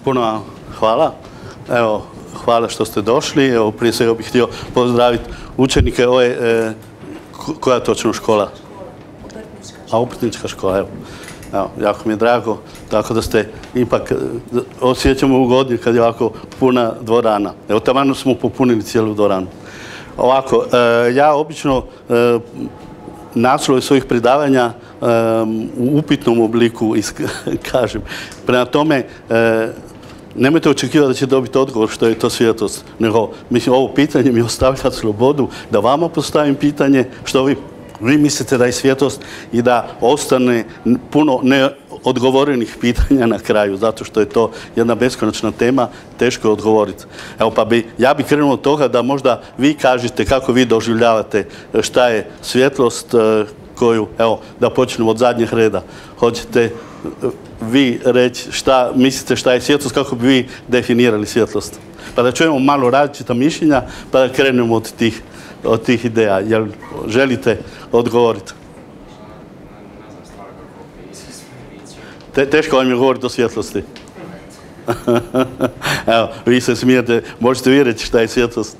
Puno vam hvala. Evo, hvala što ste došli. Evo, prije svega bih htio pozdraviti učenike ove, koja je točno škola? Obrtnička škola, evo. Evo, jako mi je drago, tako da ste ipak osjećamo ugodni kad je ovako puna dvorana. Evo, taman smo popunili cijelu dvoranu. Ovako, ja obično naslove svojih predavanja u upitnom obliku kažem. Prema tome, nemojte očekivati da će dobiti odgovor što je to svjetlost, nego, mislim, ovo pitanje mi ostavlja slobodu da vama postavim pitanje što vi mislite da je svjetlost i da ostane puno neodgovorenih pitanja na kraju, zato što je to jedna beskonačna tema, teško je odgovoriti. Evo, pa ja bih krenuo od toga da možda vi kažete kako vi doživljavate šta je svjetlost koju, evo, da počnemo od zadnjeg reda. Hoćete vi reći šta mislite šta je svjetlost, kako bi vi definirali svjetlost? Pa da čujemo malo različita mišljenja, pa da krenemo od tih ideja. Jel želite odgovoriti? Teško vam je govoriti o svjetlosti. Evo, vi se smijete, možete vi reći šta je svjetlost.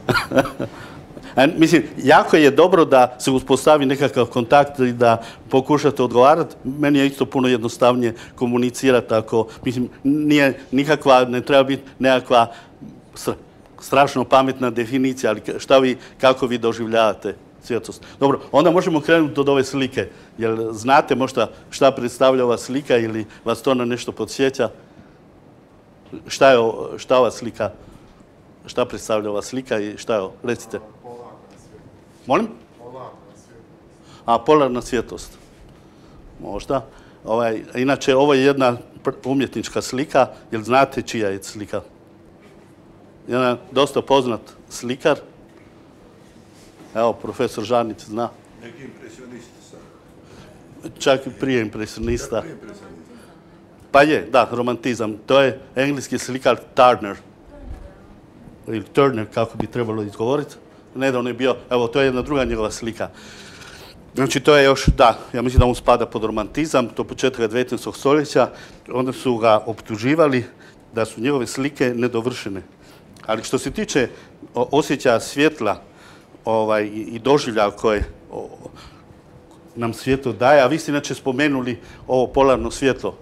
Mislim, jako je dobro da se uspostavi nekakav kontakt i da pokušate odgovarati. Meni je isto puno jednostavnije komunicirati ako, mislim, nije nikakva, ne treba biti nekakva strašno pametna definicija, ali kako vi doživljavate svjetlost. Dobro, onda možemo krenuti od ove slike. Jel znate možda šta predstavlja ova slika ili vas to na nešto podsjeća? Šta ova slika, šta predstavlja ova slika i šta je ovo? Recite. Molim? Polarna svjetlost. Možda. Inače, ovo je jedna umjetnička slika. Jel znate čija je slika? Jedan dosta poznat slikar. Evo, profesor Žarnić zna. Neki impresionisti sad. Čak i prije impresionista. Pa je, da, romantizam. To je engleski slikar Turner. Ili Turner, kako bi trebalo izgovoriti. Nedavno je bio, evo, to je jedna druga njegova slika. Znači, to je još, da, ja mislim da on spada pod romantizam, to početka 19. stoljeća. Onda su ga optuživali da su njegove slike nedovršene. Ali što se tiče osjećaja svjetla i doživljaja koje nam svjetlo daje, a vi ste inače spomenuli ovo polarno svjetlo.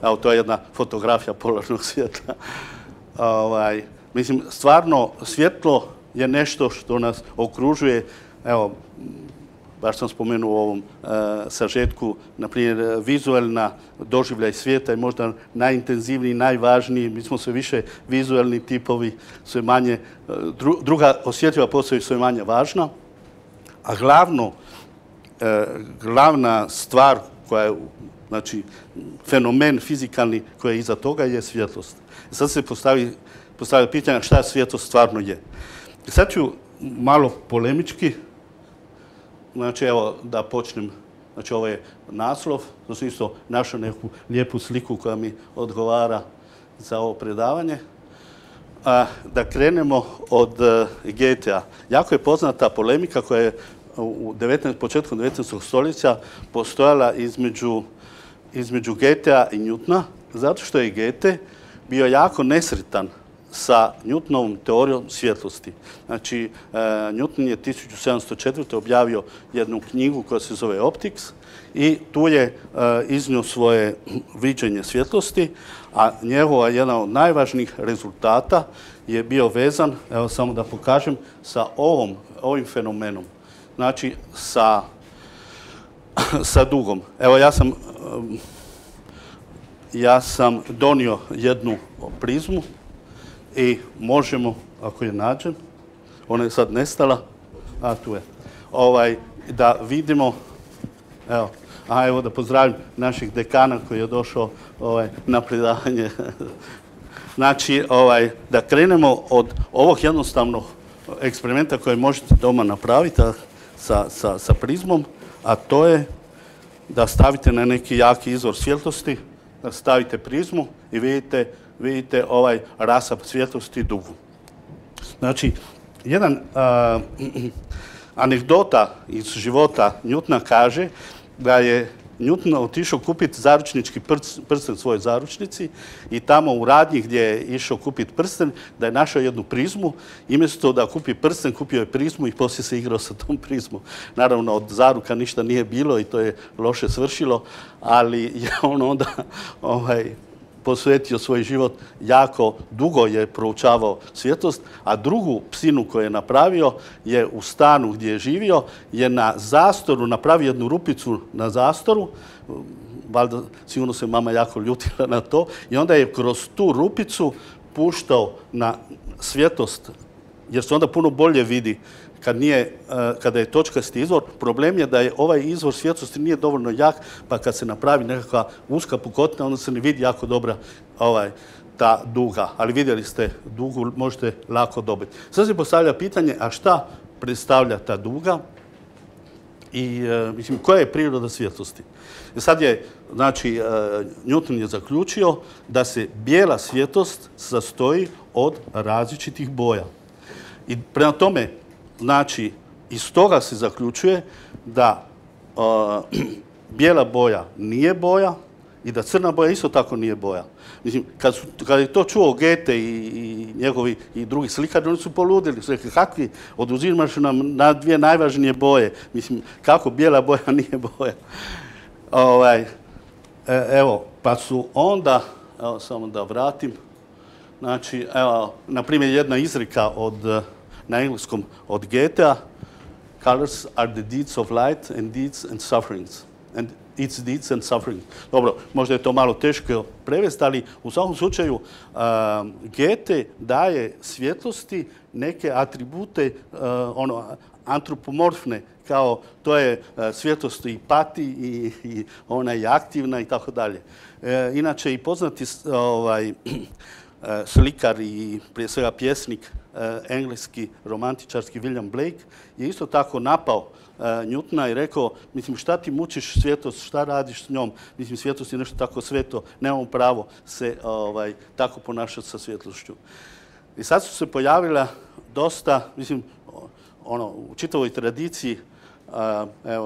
Evo, to je jedna fotografija polarnog svjetla. Mislim, stvarno, svjetlo je nešto što nas okružuje. Evo, baš sam spomenuo u ovom sažetku, na primjer, vizualna doživljaj svijeta je možda najintenzivniji, najvažniji. Mi smo sve više vizualni tipovi, sve manje, druga osjetljiva postaju sve manje važna. A glavna stvar koja je, znači, fenomen fizikalni koji je iza toga je svjetlost. Sad se postavlja pitanje šta svjetlost stvarno je. Sad ću malo polemički. Znači, evo, da počnem. Znači, ovo je naslov. To sam isto našao neku lijepu sliku koja mi odgovara za ovo predavanje. Da krenemo od Goethea. Jako je poznata polemika koja je početkom 19. stoljeća postojala između Goethea i Newtona, zato što je Goethe bio jako nesretan sa Newtonovom teorijom svjetlosti. Znači, Newton je 1704. objavio jednu knjigu koja se zove Optics i tu je iznio svoje viđenje svjetlosti, a njegova jedna od najvažnijih rezultata je bio vezan, evo samo da pokažem, sa ovim fenomenom. Znači, sa dugom. Evo, ja sam donio jednu prizmu i možemo, ako je nađem, ona je sad nestala, tu je, da vidimo, evo da pozdravim našeg dekana koji je došao na predavanje. Znači, da krenemo od ovog jednostavnog eksperimenta koje možete doma napraviti sa prizmom, a to je da stavite na neki jaki izvor svjetlosti, da stavite prizmu i vidite ovaj rasap svjetlosti dugu. Znači, jedan anegdota iz života Newtona kaže da je Newton otišao kupiti zaručnički prsten svojoj zaručnici i tamo u radnji gdje je išao kupiti prsten, da je našao jednu prizmu i umjesto da kupi prsten, kupio je prizmu i poslije se igrao sa tom prizmom. Naravno, od zaruka ništa nije bilo i to je loše svršilo, ali je on onda posvetio svoj život, jako dugo je proučavao svjetlost, a drugu psinu koju je napravio je u stanu gdje je živio, je na zastoru napravio jednu rupicu na zastoru, valjda sigurno se mama jako ljutila na to, i onda je kroz tu rupicu puštao na svjetlost, jer se onda puno bolje vidi kada je točkasti izvor. Problem je da je ovaj izvor svjetlosti nije dovoljno jak, pa kad se napravi nekakva uska pukotina, onda se ne vidi jako dobra ta duga. Ali vidjeli ste, dugu možete lako dobiti. Sad se postavlja pitanje, a šta predstavlja ta duga i mislim, koja je priroda svjetlosti? Sad je, znači, Newton je zaključio da se bijela svjetlost sastoji od različitih boja. I prema tome, znači, iz toga se zaključuje da bijela boja nije boja i da crna boja isto tako nije boja. Mislim, kad je to čuo Goethe i njegovi i drugi slikari, oni su poludili. Su rekli, kakvi oduzimaš nam na dvije najvažnije boje. Mislim, kako bijela boja nije boja. Evo, pa su onda, evo samo da vratim, znači, evo, na primjer, jedna izreka na engleskom od Goethea, colors are the deeds of light and deeds and sufferings. And its deeds and sufferings. Dobro, možda je to malo teško prevesti, ali u svakom slučaju Goethe daje svjetlosti neke atribute antropomorfne, kao to je svjetlost i pati i ona je aktivna i tako dalje. Inače i poznati slikar i prije svega pjesnik engleski romantičarski William Blake je isto tako napao Newtona i rekao, mislim, šta ti mučiš svjetlost, šta radiš s njom? Mislim, svjetlost je nešto tako sveto, nemamo pravo se tako ponašati sa svjetlošću. I sad su se pojavila dosta, mislim, u čitavoj tradiciji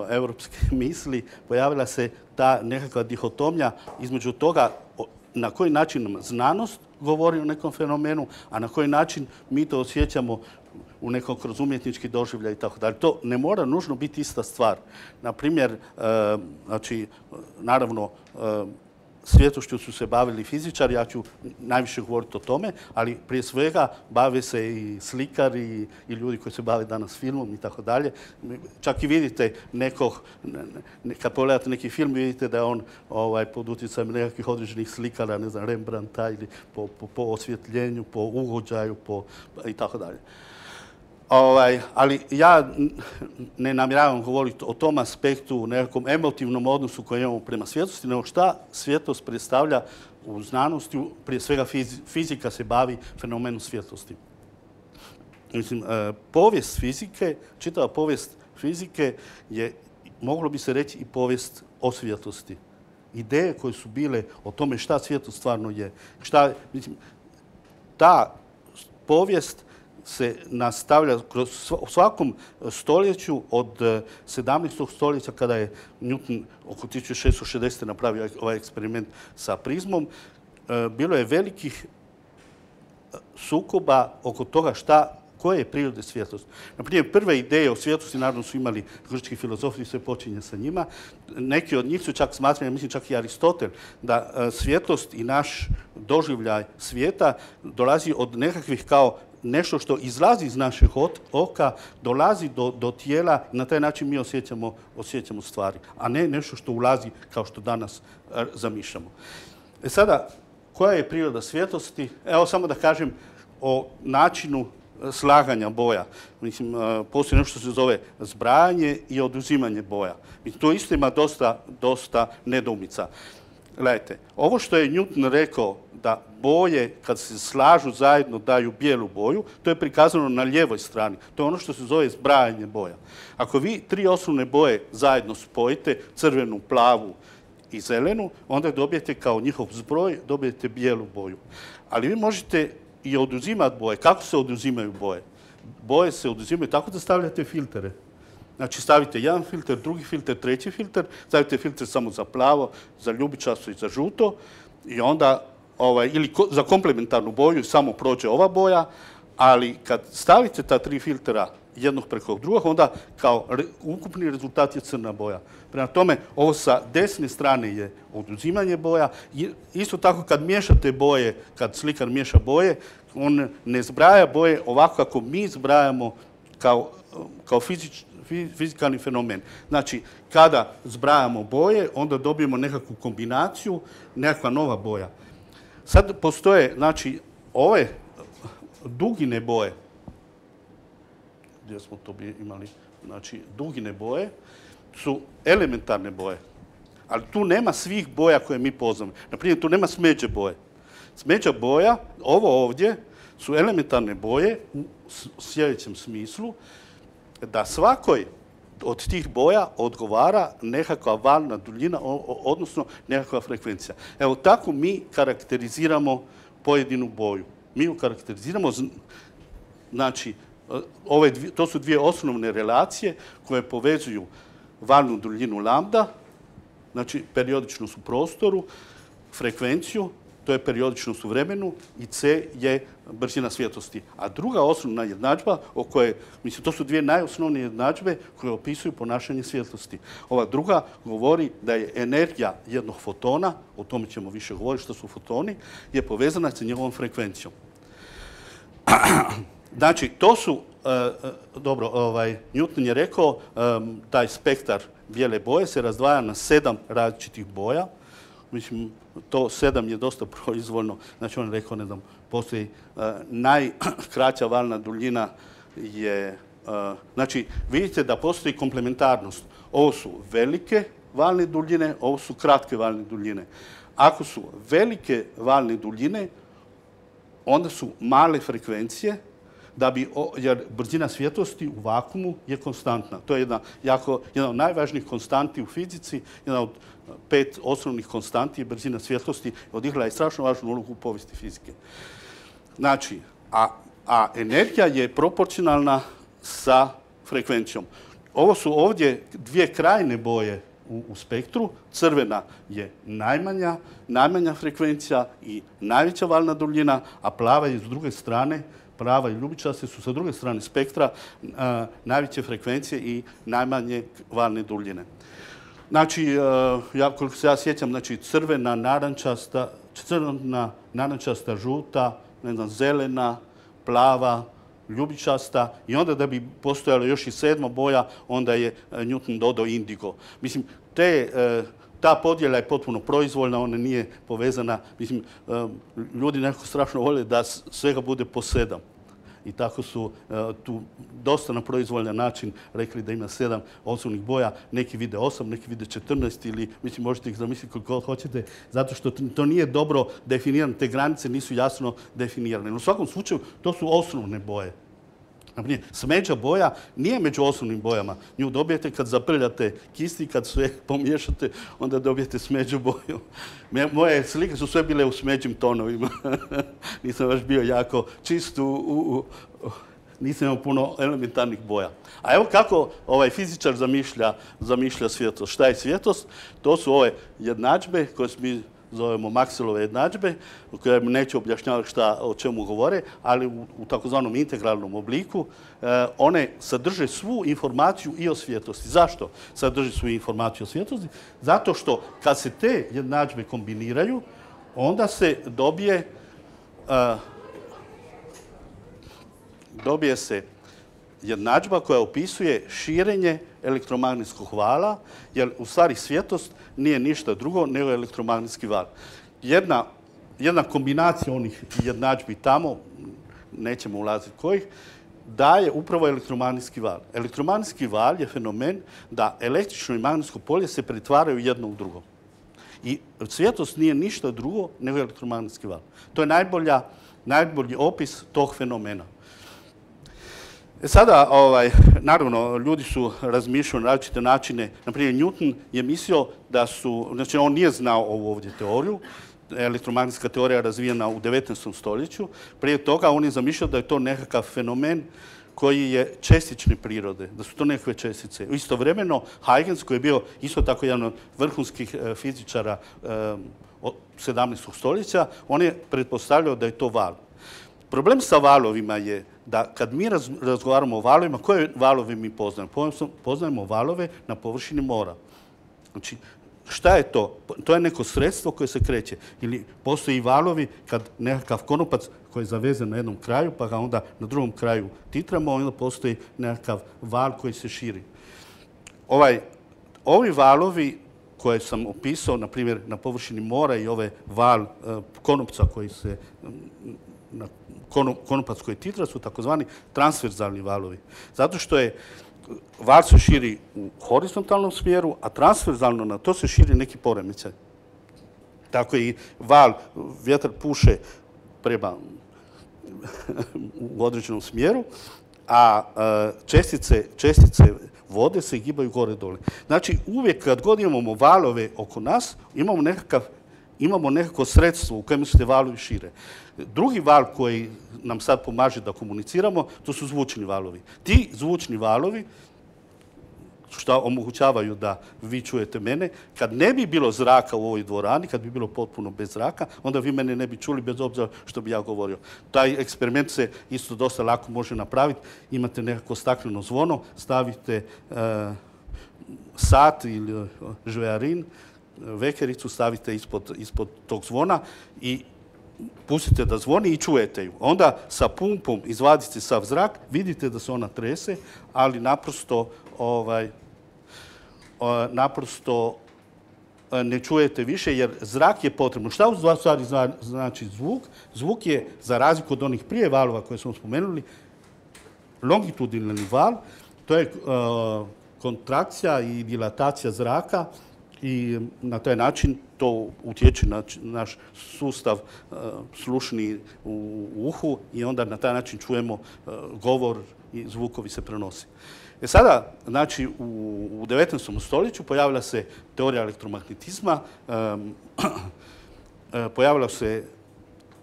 evropske misli pojavila se ta nekakva dihotomija između toga na koji način nam znanost govori o nekom fenomenu, a na koji način mi to osjećamo u nekom kroz umjetnički doživljaj i tako dalje. To ne mora nužno biti ista stvar. Na primjer, znači, naravno, svjetlošću su se bavili fizičari, ja ću najviše govoriti o tome, ali prije svega bave se i slikari i ljudi koji se bave danas filmom i tako dalje. Čak i vidite kad pogledate neki film, vidite da je on pod utjecajem nekakvih određenih slikara, ne znam, Rembrandta ili po osvjetljenju, po ugođaju i tako dalje. Ali ja ne namjeravam govoriti o tom aspektu, u nekakvom emotivnom odnosu koji imamo prema svjetlosti, nego šta svjetlost predstavlja u znanosti, prije svega fizika se bavi fenomenom svjetlosti. Mislim, povijest fizike, čitava povijest fizike je, moglo bi se reći, i povijest o svjetlosti. Ideje koje su bile o tome šta svjetlost stvarno je. Ta povijest se nastavlja u svakom stoljeću od 17. stoljeća kada je Newton oko 1660. napravio ovaj eksperiment sa prizmom. Bilo je velikih sukoba oko toga koje je prirode svjetlosti. Naprimjer, prve ideje o svjetlosti naravno su imali grčki filozofi i sve počinje sa njima. Neki od njih su čak smatrali, mislim čak i Aristotel, da svjetlost i naš doživljaj svijeta dolazi od nekakvih kao nešto što izlazi iz našeg oka, dolazi do tijela i na taj način mi osjećamo stvari, a ne nešto što ulazi kao što danas zamišljamo. Sada, koja je priroda svjetlosti? Evo samo da kažem o načinu slaganja boja. Mislim, postoji nešto što se zove zbrajanje i oduzimanje boja. I to isto ima dosta nedoumica. Gledajte, ovo što je Newton rekao da boje kad se slažu zajedno daju bijelu boju, to je prikazano na lijevoj strani. To je ono što se zove zbrajanje boja. Ako vi 3 osnovne boje zajedno spojite, crvenu, plavu i zelenu, onda dobijete kao njihov zbroj, dobijete bijelu boju. Ali vi možete i oduzimati boje. Kako se oduzimaju boje? Boje se oduzimaju tako da stavljate filtere. Znači stavite jedan filter, drugi filter, treći filter, stavite filter samo za plavo, za ljubičasto i za žuto i onda, ili za komplementarnu boju samo prođe ova boja, ali kad stavite ta 3 filtera jednog preko drugog, onda kao ukupni rezultat je crna boja. Prema tome, ovo sa desne strane je oduzimanje boja. Isto tako kad miješate boje, kad slikar miješa boje, on ne zbraja boje ovako kako mi zbrajamo kao fizikalni fenomen. Znači, kada zbrajamo boje, onda dobijemo nekakvu kombinaciju, nekakva nova boja. Sad postoje, znači, ove dugine boje, gdje smo to imali, znači, dugine boje su elementarne boje. Ali tu nema svih boja koje mi poznamo. Naprimjer, tu nema smeđe boje. Smeđa boja, ovo ovdje, su elementarne boje u sljedećem smislu, da svakoj od tih boja odgovara nekakva valna duljina, odnosno nekakva frekvencija. Evo, tako mi karakteriziramo pojedinu boju. Mi ju karakteriziramo, znači, to su dvije osnovne relacije koje povezuju valnu duljinu lambda, znači periodičnost u prostoru, frekvenciju, to je periodičnost u vremenu i C je brzina svjetlosti. A druga osnovna jednadžba, to su dvije najosnovnije jednadžbe koje opisuju ponašanje svjetlosti. Ova druga govori da je energija jednog fotona, o tome ćemo više govoriti što su fotoni, je povezana sa njegovom frekvencijom. Znači, to su, Newton je rekao, taj spektar bijele boje se razdvaja na 7 različitih boja. Mislim, to 7 je dosta proizvoljno. Znači, on je rekao, ne znam, postoji najkraća valna duljina je... Znači, vidite da postoji komplementarnost. Ovo su velike valne duljine, ovo su kratke valne duljine. Ako su velike valne duljine, onda su male frekvencije, jer brzina svjetlosti u vakuumu je konstantna. To je jedna od najvažnijih konstanti u fizici, jedna od 5 osnovnih konstanti je brzina svjetlosti, odigrala je strašno važnu ulogu u povijesti fizike. Znači, a energija je proporcionalna sa frekvencijom. Ovo su ovdje dvije krajne boje u spektru. Crvena je najmanja frekvencija i najveća valna duljina, a plava je s druge strane, plava i ljubičaste su sa druge strane spektra najveće frekvencije i najmanje valne duljine. Znači, koliko se ja sjećam, znači crvena, narančasta, žuta, zelena, plava, ljubičasta i onda da bi postojala još i 7. boja, onda je Newton dodao indigo. Mislim, ta podjela je potpuno proizvoljna, ona nije povezana. Mislim, ljudi nekako strašno vole da svega bude po 7. I tako su tu dosta na proizvoljan način rekli da ima 7 osnovnih boja. Neki vide 8, neki vide 14 ili, mislim, možete ih zamisliti koliko hoćete, zato što to nije dobro definirano, te granice nisu jasno definirane. U svakom slučaju, to su osnovne boje. Naprimjer, smeđa boja nije među osnovnim bojama. Nju dobijete kad zaprljate kisti, kad sve pomiješate, onda dobijete smeđu boju. Moje slike su sve bile u smeđim tonovima. Nisam baš bio jako čist, nisam imao puno elementarnih boja. A evo kako fizičar zamišlja svjetlost. Šta je svjetlost? To su ove jednadžbe koje mi zovemo Maxwellove jednadžbe, koje neću objašnjavati o čemu govore, ali u takozvanom integralnom obliku one sadrže svu informaciju i o svjetlosti. Zašto sadrže svu informaciju o svjetlosti? Zato što kad se te jednadžbe kombiniraju, onda se dobije se jednadžba koja opisuje širenje elektromagnetskog vala, jer u stvari svjetlost nije ništa drugo nego elektromagnetski val. Jedna kombinacija onih jednadžbi tamo, nećemo ulaziti kojih, daje upravo elektromagnetski val. Elektromagnetski val je fenomen da električno i magnetsko polje se pretvaraju jedno u drugo. I svjetlost nije ništa drugo nego elektromagnetski val. To je najbolji opis tog fenomena. Sada, naravno, ljudi su razmišljali na različite načine. Naprimjer, Newton je mislio znači on nije znao ovu ovdje teoriju, elektromagnetska teorija je razvijena u 19. stoljeću. Prije toga on je zamišljao da je to nekakav fenomen koji je čestične prirode, da su to nekakve čestice. Istovremeno, Huygens, koji je bio isto tako jedan od vrhunskih fizičara 17. stoljeća, on je pretpostavljao da je to val. Problem sa valovima je da kad mi razgovaramo o valovima, koje valove mi poznajemo? Poznajemo valove na površini mora. Znači, šta je to? To je neko sredstvo koje se kreće. Ili postoji valovi kad nekakav konopac koji je zavezan na jednom kraju, pa ga onda na drugom kraju titramo, onda postoji nekakav val koji se širi. Ovi valovi koje sam opisao, na primjer, na površini mora i ovaj val konopca koji se konopac koji titra su takozvani transverzalni valovi. Zato što je val se širi u horizontalnom smjeru, a transverzalno na to se širi neki poremećaj. Tako i val, vjetar puše prema u određenom smjeru, a čestice vode se gibaju gore-dole. Znači, uvijek kad god imamo valove oko nas, imamo nekako sredstvo u kojem se te valovi šire. Drugi val koji nam sad pomaže da komuniciramo, to su zvučni valovi. Ti zvučni valovi, što omogućavaju da vi čujete mene, kad ne bi bilo zraka u ovoj dvorani, kad bi bilo potpuno bez zraka, onda vi mene ne bi čuli bez obzira što bi ja govorio. Taj eksperiment se isto dosta lako može napraviti. Imate nekako stakleno zvono, stavite sat ili žvejarin, vekericu stavite ispod tog zvona i pustite da zvoni i čujete ju. Onda sa pumpom izvadite sav zrak, vidite da se ona trese, ali naprosto ne čujete više jer zrak je potrebno. Šta u stvari znači zvuk? Zvuk je, za razliku od onih prije valova koje smo spomenuli, longitudinalni val, to je kontrakcija i dilatacija zraka i na taj način to utječe na naš sustav slušni u uhu i onda na taj način čujemo govor i zvukovi se prenose. Sada, znači, u 19. stoljeću pojavila se teorija elektromagnetizma, pojavila se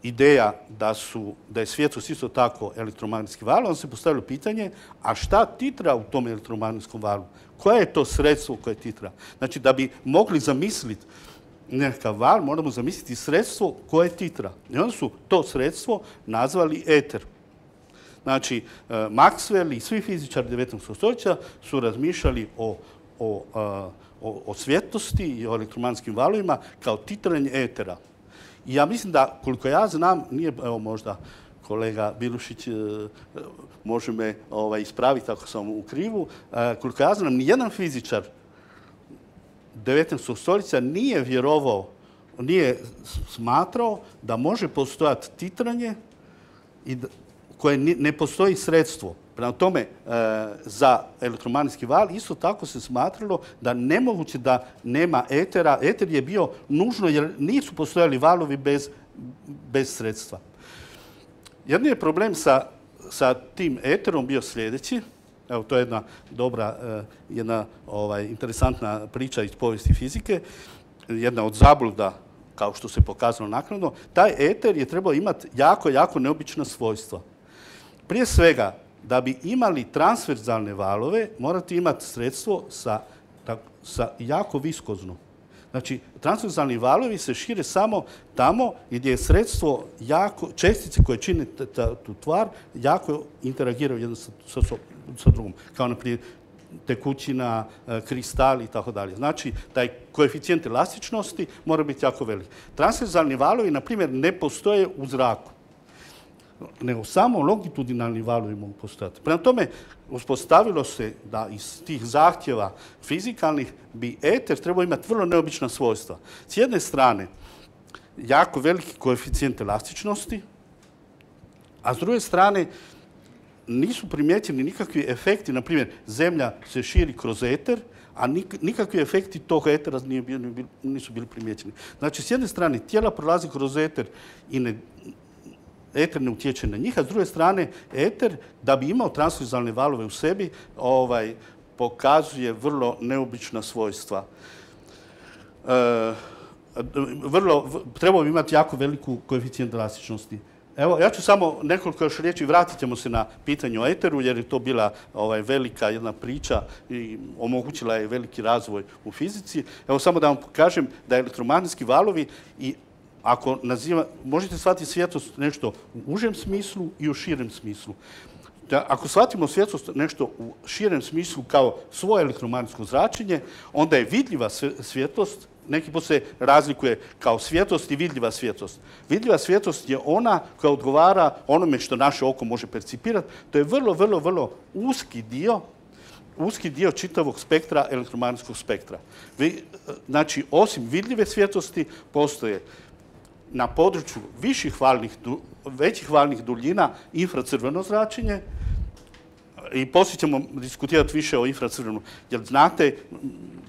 ideja da je svjetlost isto tako elektromagnetski val, onda se postavilo pitanje, a šta titra u tom elektromagnetskom valu? Koje je to sredstvo koje titra? Znači, da bi mogli zamisliti nekakav val, moramo zamisliti sredstvo koje titra. I onda su to sredstvo nazvali eter. Znači, Maxwell i svi fizičari 19. stoljeća su razmišljali o svjetlosti i o elektromagnetskim valovima kao titranje etera. I ja mislim da, koliko ja znam, nije, evo možda kolega Bilušić može me ispraviti ako sam u krivu, koliko ja znam, nijedan fizičar 19. stoljeća nije vjerovao, nije smatrao da može postojati titranje i koje ne postoji sredstvo. Prema tome, za elektromagnetski val isto tako se smatralo da nemoguće da nema etera. Eter je bio nužno jer nisu postojali valovi bez sredstva. Jedni je problem sa tim eterom bio sljedeći. Evo, to je jedna dobra, interesantna priča iz povijesti fizike. Jedna od zabluda, kao što se pokazalo naknadno. Taj eter je trebao imati jako neobična svojstva. Prije svega, da bi imali transverzalne valove, morate imati sredstvo sa jako viskozno. Znači, transverzalni valovi se šire samo tamo gdje je sredstvo čestice koje čine tu tvar, jako interagiraju jedno sa drugom. Kao, naprimjer, tekućina, kristal i tako dalje. Znači, taj koeficijent elastičnosti mora biti jako velik. Transverzalni valovi, na primjer, ne postoje u zraku, nego samo longitudinalni valovi mogu postojati. Prema tome, uspostavilo se da iz tih zahtjeva fizikalnih bi eter trebao imati vrlo neobična svojstva. S jedne strane, jako veliki koeficijent elastičnosti, a s druge strane, nisu primijećeni nikakvi efekti, na primjer, Zemlja se širi kroz eter, a nikakvi efekti tog etera nisu bili primijećeni. Znači, s jedne strane, tijela prolazi kroz eter i eter ne utječe na njih, a s druge strane, eter, da bi imao transverzalne valove u sebi, pokazuje vrlo neobična svojstva. Trebao bi imati jako veliku koeficijent elastičnosti. Evo, ja ću samo nekoliko još riječi, vratit ćemo se na pitanje o eteru, jer je to bila velika jedna priča i omogućila je veliki razvoj u fizici. Evo, samo da vam pokažem da elektromagnetski valovi i ako možete shvatiti svjetlost nešto u užem smislu i u širem smislu. Ako shvatimo svjetlost nešto u širem smislu kao svoje elektromagnetsko zračenje, onda je vidljiva svjetlost, neki put se razlikuje kao svjetlost i vidljiva svjetlost. Vidljiva svjetlost je ona koja odgovara onome što naše oko može percipirati. To je vrlo, vrlo, vrlo uski dio čitavog spektra, elektromagnetskog spektra. Znači, osim vidljive svjetlosti, postoje na području većih valnih duljina infracrveno zračenje i poslije ćemo diskutirati više o infracrvenom. Jel znate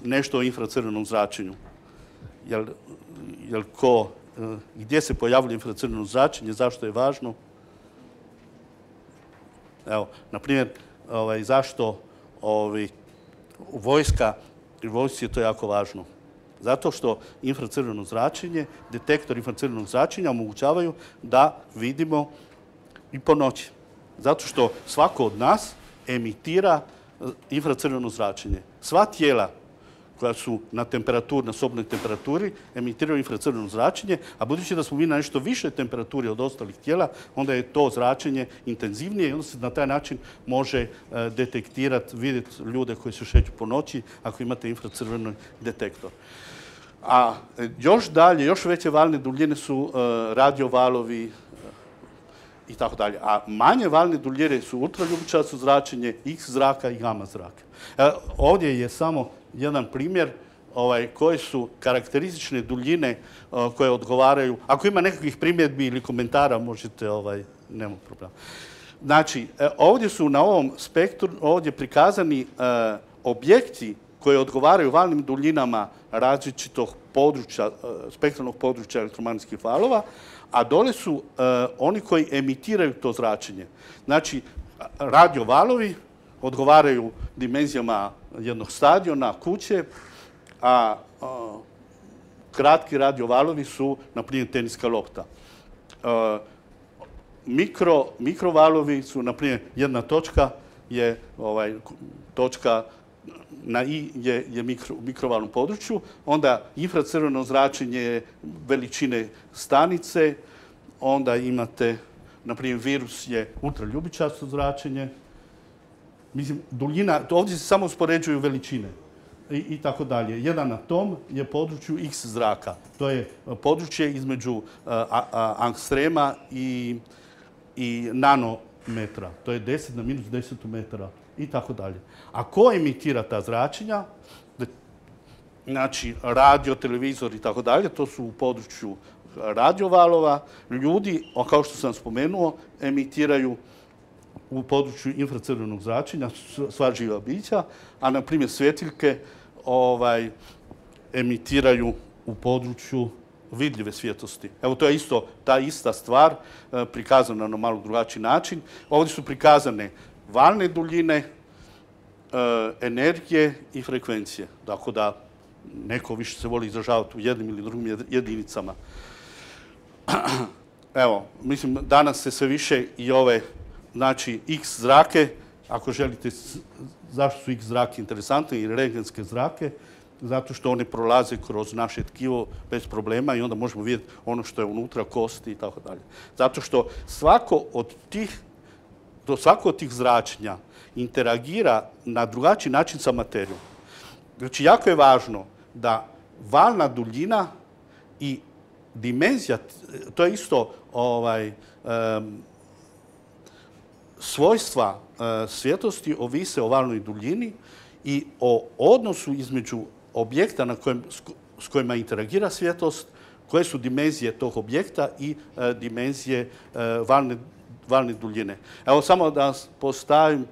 nešto o infracrvenom zračenju? Gdje se pojavljuje infracrveno zračenje, zašto je važno? Evo, na primjer, zašto u vojsci je to jako važno. Zato što infracrveno zračenje, detektor infracrvenog zračenja omogućavaju da vidimo i po noći. Zato što svako od nas emitira infracrveno zračenje. Sva tijela koja su na sobnoj temperaturi emitiraju infracrveno zračenje, a budući da smo mi na nešto više temperaturi od ostalih tijela, onda je to zračenje intenzivnije i onda se na taj način može detektirati, vidjeti ljude koji se šeću po noći ako imate infracrveni detektor. A još dalje, još veće valne duljine su radiovalovi i tako dalje. A manje valne duljine su ultraljubičasto zračenje, X zraka i gama zraka. Ovdje je samo jedan primjer koje su karakteristične duljine koje odgovaraju. Ako ima nekakvih primjedbi ili komentara, možete, nema problema. Znači, ovdje su na ovom spektru ovdje prikazani objekti koji odgovaraju valnim duljinama različitog područja, spektralnog područja elektromagnetskih valova, a dole su oni koji emitiraju to zračenje. Znači, radiovalovi odgovaraju dimenzijama jednog stadiona, kuće, a kratki radiovalovi su, na primjer, teniska lopta. Mikrovalovi su, na primjer, jedna točka je točka na I je u mikrovalnom području, onda infracrveno zračenje je veličine stanice, onda imate, na primjer, virus je ultraljubičasto zračenje. Mislim, duljina, ovdje se samo uspoređuju veličine i tako dalje. Jedan atom je području X zraka. To je područje između angstrema i nanometra. To je 10 na minus 10 metara i tako dalje. A ko emitira ta zračenja? Znači, radio, televizor i tako dalje, to su u području radiovalova. Ljudi, kao što sam spomenuo, emitiraju u području infracrvenog zračenja, sva živa bića, a na primjer svjetiljke emitiraju u području vidljive svjetlosti. Evo, to je isto ta ista stvar, prikazana na malo drugačiji način. Ovdje su prikazane valne duljine, energije i frekvencije. Dakle, da neko više se voli izražavati u jednim ili drugim jedinicama. Evo, mislim, danas se sve više i znači, X zrake, ako želite, zašto su X zrake interesantne i rentgenske zrake? Zato što one prolaze kroz naše tkivo bez problema i onda možemo vidjeti ono što je unutra, kosti i tako dalje. Zato što svako od tih zračenja interagira na drugačiji način sa materijom. Znači, jako je važno da valna duljina i dimenzija, to je isto svojstva svjetlosti ovise o valnoj duljini i o odnosu između objekta s kojima interagira svjetlost, koje su dimenzije tog objekta i dimenzije valne duljine. Evo samo da postavim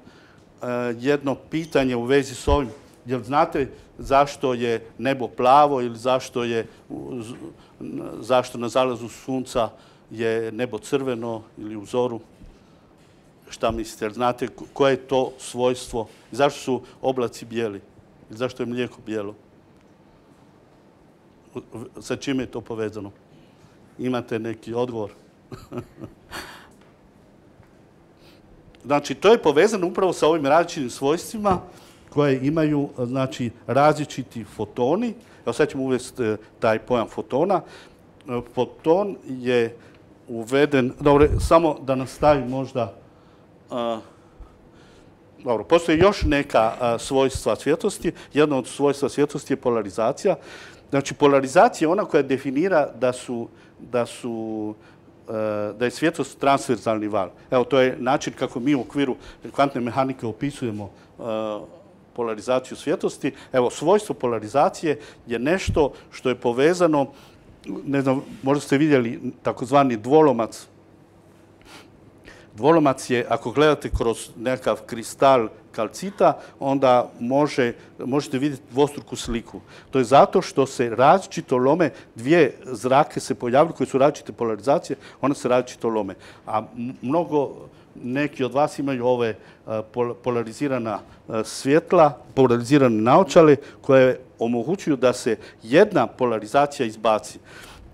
jedno pitanje u vezi s ovim. Jel znate zašto je nebo plavo ili zašto na zalazu sunca je nebo crveno ili u zoru? Šta mislite? Jel znate koje je to svojstvo? Zašto su oblaci bijeli? Zašto je mlijeko bijelo? Sa čime je to povezano? Imate neki odgovor? Znači, to je povezano upravo sa ovim različitim svojstvima koje imaju, znači, različiti fotoni. Evo sad ćemo uvesti taj pojam fotona. Foton je uveden, dobro, samo da nastavim možda, dobro, postoje još neka svojstva svjetlosti. Jedno od svojstva svjetlosti je polarizacija. Znači, polarizacija je ona koja definira da je svjetlost transverzalni val. Evo, to je način kako mi u okviru kvantne mehanike opisujemo polarizaciju svjetlosti. Evo, svojstvo polarizacije je nešto što je povezano, ne znam, možda ste vidjeli takozvani dvolomac. Dvolomac je, ako gledate kroz nekakav kristal kalcita, onda možete vidjeti dvostruku sliku. To je zato što se različito lome, dvije zrake se pojavljaju koje su različite polarizacije, one se različito lome. A neki od vas imaju ove polarizirana svjetla, polarizirane naočale koje omogućuju da se jedna polarizacija izbaci.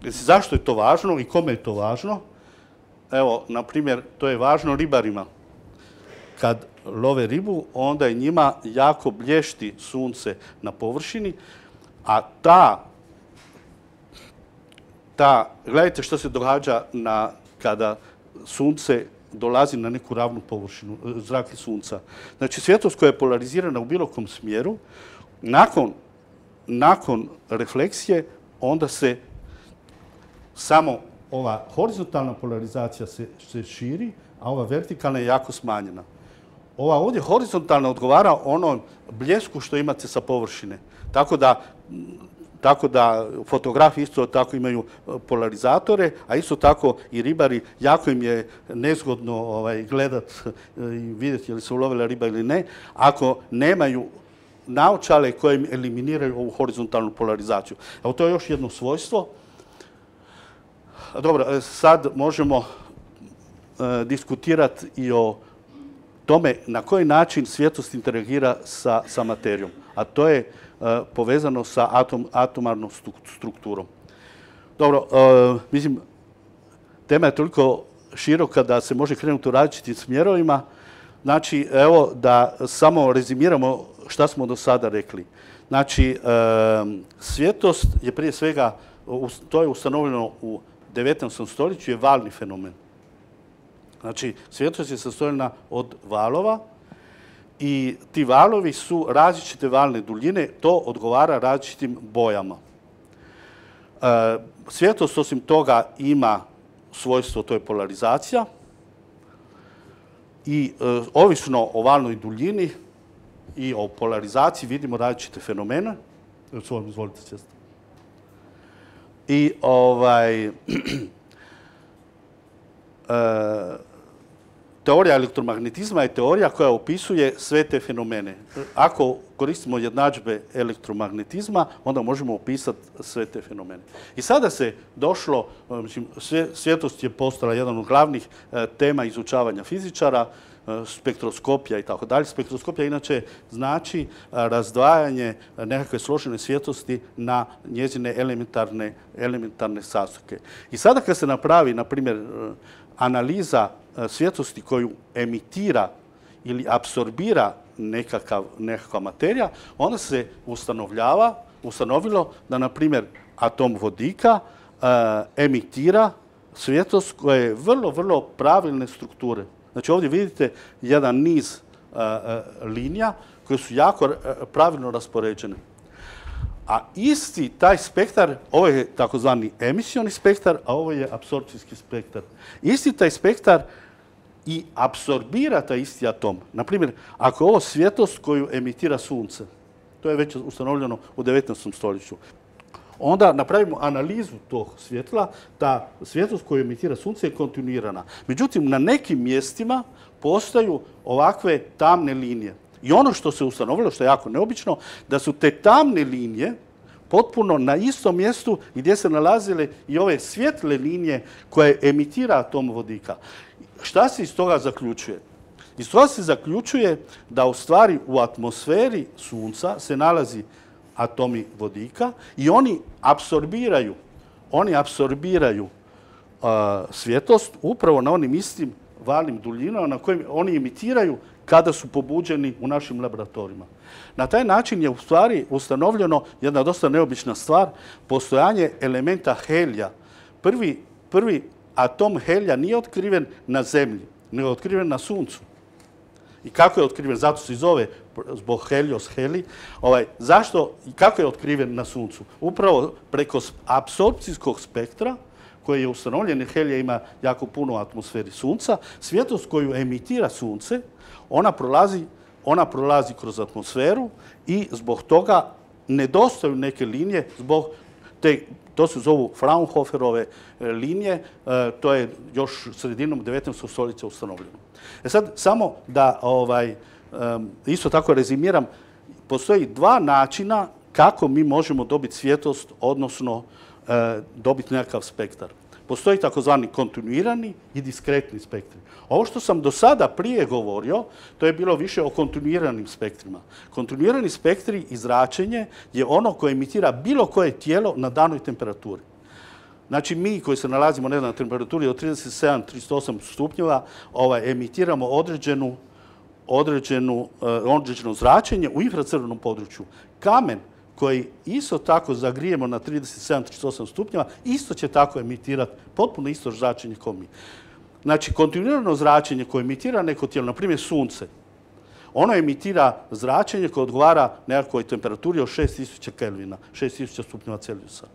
Zašto je to važno i kome je to važno? Evo, na primjer, to je važno ribarima. Kad love ribu, onda je njima jako blješti sunce na površini, a gledajte što se događa kada sunce dolazi na neku ravnu površinu, zrak sunca. Znači, svjetlost koja je polarizirana u bilo kom smjeru, nakon refleksije, onda se samo ova horizontalna polarizacija se širi, a ova vertikalna je jako smanjena. Ova ovdje horizontalna odgovara onom bljesku što imate sa površine. Tako da fotografi isto tako imaju polarizatore, a isto tako i ribari, jako im je nezgodno gledati i vidjeti je li se ulovila riba ili ne, ako nemaju naočale koje im eliminiraju ovu horizontalnu polarizaciju. Evo, to je još jedno svojstvo. Dobro, sad možemo diskutirati i o tome na koji način svjetlost interagira sa materijom, a to je povezano sa atomarnom strukturom. Dobro, mislim, tema je toliko široka da se može krenuti u različitim smjerovima. Znači, evo da samo rezimiramo šta smo do sada rekli. Znači, svjetlost je prije svega, to je ustanovljeno u 19. stoljeću, je valni fenomen. Znači, svjetlost je sastojena od valova i ti valovi su različite valne duljine, to odgovara različitim bojama. Svjetlost osim toga ima svojstvo, to je polarizacija i ovisno o valnoj duljini i o polarizaciji vidimo različite fenomene. Izvolite sjesti. I teorija elektromagnetizma je teorija koja opisuje sve te fenomene. Ako koristimo jednadžbe elektromagnetizma, onda možemo opisati sve te fenomene. I sada se došlo, svjetlost je postala jedan od glavnih tema izučavanja fizičara, spektroskopija i tako dalje. Spektroskopija inače znači razdvajanje nekakve složene svjetlosti na njezine elementarne sastojke. I sada kad se napravi, na primjer, analiza svjetlosti koju emitira ili apsorbira nekakva materija, onda se ustanovilo da, na primjer, atom vodika emitira svjetlost koja je vrlo, vrlo pravilne strukture. Znači, ovdje vidite jedan niz linija koje su jako pravilno raspoređene. A isti taj spektar, ovo je takozvani emisioni spektar, a ovo je apsorpcijski spektar. Isti taj spektar i apsorbira taj isti atom. Naprimjer, ako je ovo svjetlost koju emitira sunce, to je već ustanovljeno u 19. stoljeću, onda napravimo analizu tog svjetla, ta svjetlost koju emitira sunce je kontinuirana. Međutim, na nekim mjestima postaju ovakve tamne linije. I ono što se ustanovilo, što je jako neobično, da su te tamne linije potpuno na istom mjestu gdje se nalazile i ove svjetle linije koje emitira atom vodika. Šta se iz toga zaključuje? Iz toga se zaključuje da u stvari u atmosferi sunca se nalazi atomi vodika i oni apsorbiraju svjetlost upravo na onim istim valnim duljinama na kojim oni emitiraju kada su pobuđeni u našim laboratorijima. Na taj način je u stvari ustanovljeno jedna dosta neobična stvar, postojanje elementa helija. Prvi atom helija nije otkriven na Zemlji, nego je otkriven na Suncu. I kako je otkriven? Zato se i zove zbog helios heli. Zašto i kako je otkriven na Suncu? Upravo preko apsorpcijskog spektra, koji je ustanovljen, jer helija ima jako puno u atmosferi Sunca, svjetlost koju emitira Sunce, ona prolazi kroz atmosferu i zbog toga nedostaju neke linije, to se zovu Fraunhoferove linije, to je još sredinom 19. stoljeća ustanovljeno. Sad, samo da isto tako rezimiram, postoji dva načina kako mi možemo dobiti svjetlost, odnosno dobiti nekakav spektar. Postoji takozvani kontinuirani i diskretni spektri. Ovo što sam do sada prije govorio, to je bilo više o kontinuiranim spektrima. Kontinuirani spektri i zračenje je ono koje emitira bilo koje tijelo na danoj temperaturi. Znači, mi koji se nalazimo na temperaturi od 37-38 stupnjeva emitiramo određeno zračenje u infracrvenom području. Kamen koji isto tako zagrijemo na 37-38 stupnjeva, isto će tako emitirati potpuno isto zračenje kao mi. Znači, kontinuirano zračenje koje emitira neko tijelo, na primjer Sunce, ono emitira zračenje koje odgovara nekakvoj temperaturi od 6000 Kelvina, 6000 stupnjeva Celzijusa.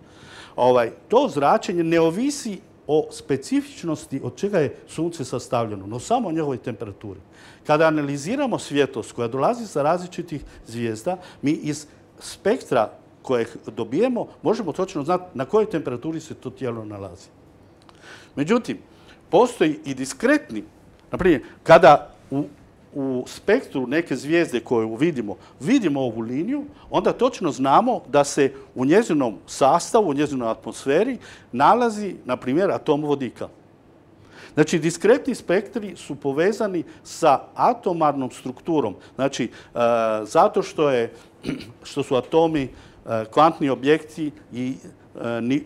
To zračenje ne ovisi o specifičnosti od čega je Sunce sastavljeno, no samo o njegovoj temperaturi. Kada analiziramo svjetlost koja dolazi sa različitih zvijezda, mi iz spektra kojeg dobijemo možemo točno znati na kojoj temperaturi se to tijelo nalazi. Međutim, postoji i diskretni, naprimjer, kada u spektru neke zvijezde koju vidimo ovu liniju, onda točno znamo da se u njezinom sastavu, u njezinoj atmosferi nalazi, na primjer, atom vodika. Znači, diskretni spektri su povezani sa atomarnom strukturom. Znači, zato što su atomi kvantni objekti i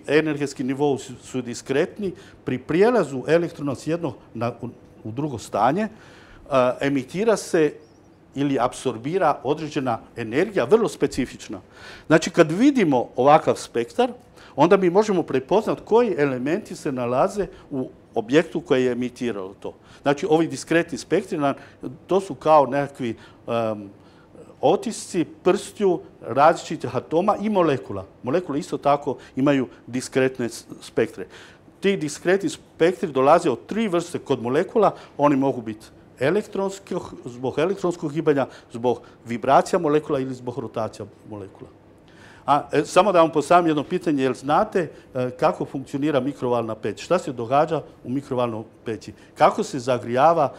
energetski nivou su diskretni, pri prijelazu elektrona s jednog u drugo stanje emitira se ili apsorbira određena energija, vrlo specifična. Znači, kad vidimo ovakav spektar, onda mi možemo prepoznati koji elementi se nalaze u objektu koji je emitirao to. Znači, ovi diskretni spektri, to su kao nekakvi otisci prstiju različitih atoma i molekula. Molekule isto tako imaju diskretne spektre. Ti diskretni spektri dolaze od tri vrste kod molekula. Oni mogu biti zbog elektronskog gibanja, zbog vibracija molekula ili zbog rotacija molekula. Samo da vam postavim jedno pitanje, jel znate kako funkcionira mikrovalna peć? Šta se događa u mikrovalnoj peći? Kako se zagrijava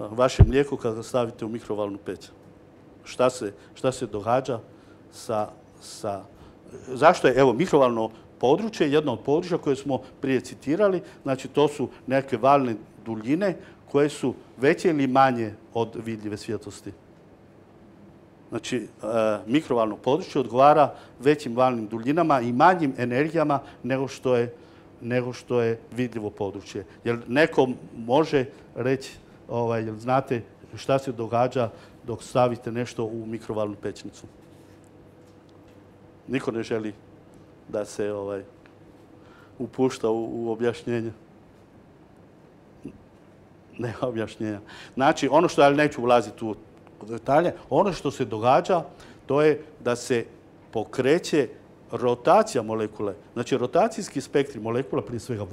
vaše mlijeko kada stavite u mikrovalnu peć? Šta se događa zašto je, evo, mikrovalno područje jedno od područja koje smo prije citirali, znači to su neke valne duljine koje su veće ili manje od vidljive svjetlosti. Znači, mikrovalno područje odgovara većim valnim duljinama i manjim energijama nego što je vidljivo područje. Jer neko može reći, jel znate šta se događa dok stavite nešto u mikrovalnu pećnicu? Niko ne želi da se upušta u objašnjenje. Nema objašnjenja. Znači, ono što, ali neću ulaziti u detalje, ono što se događa, to je da se pokreće rotacija molekule. Znači, rotacijski spektri molekula, prije svega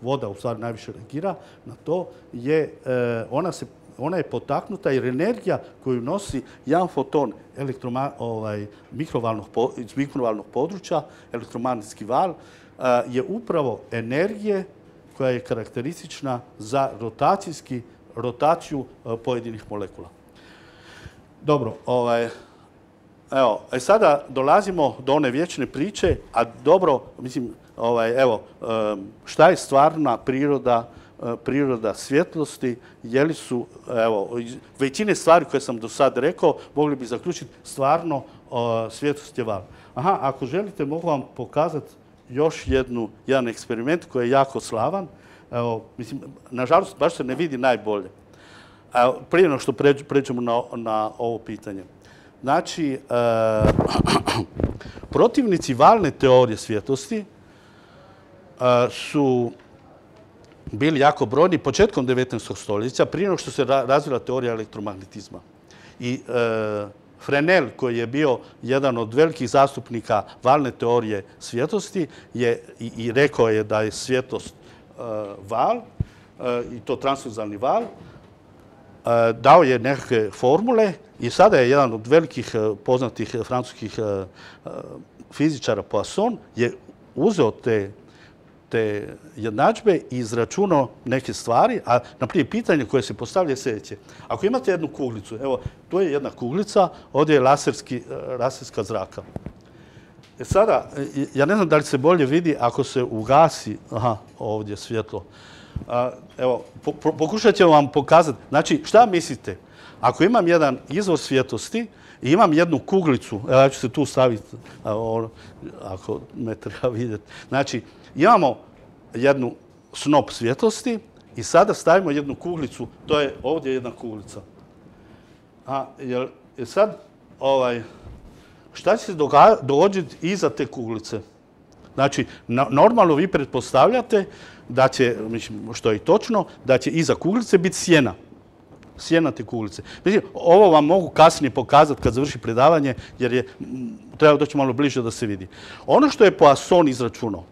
voda u stvari najviše reagira na to, ona je potaknuta jer energija koju nosi jedan foton iz mikrovalnog područja, elektromagnetski val, je upravo energije koja je karakteristična za rotaciju pojedinih molekula. Dobro, evo, sada dolazimo do one vječne priče, a dobro, mislim, evo, šta je stvarna priroda svjetlosti, je li su, evo, većine stvari koje sam do sad rekao, mogli bi zaključiti stvarno svjetlost je val. Ako želite, mogu vam pokazati još jedan eksperiment koji je jako slavan. Evo, mislim, nažalost, baš se ne vidi najbolje. Prije nego što pređemo na ovo pitanje. Znači, protivnici valne teorije svjetlosti su bili jako brojni početkom 19. stoljeća, prije nego što se razvila teorija elektromagnetizma. I Fresnel, koji je bio jedan od velikih zastupnika valne teorije svjetlosti, i rekao je da je svjetlost val, i to transverzalni val, dao je nekakve formule i sada je jedan od velikih poznatih francuskih fizičara, Poisson, je uzeo te jednadžbe i izračunao neke stvari, a naprijed pitanje koje se postavlja je sljedeće. Ako imate jednu kuglicu, evo, tu je jedna kuglica, ovdje je laserska zraka. Sada, ja ne znam da li se bolje vidi ako se ugasi, ovdje svjetlo. Evo, pokušat ćemo vam pokazati. Znači, šta mislite? Ako imam jedan izvor svjetlosti i imam jednu kuglicu, evo ja ću se tu staviti, ako me treba vidjeti. Znači, imamo jednu snop svjetlosti i sada stavimo jednu kuglicu, to je ovdje jedna kuglica. Sad, šta će se dogoditi iza te kuglice? Znači, normalno vi pretpostavljate da će, što je i točno, da će iza kuglice biti sjena. Sjena te kuglice. Mislim, ovo vam mogu kasnije pokazati kad završi predavanje, jer treba doći malo bliže da se vidi. Ono što je Poisson izračunao,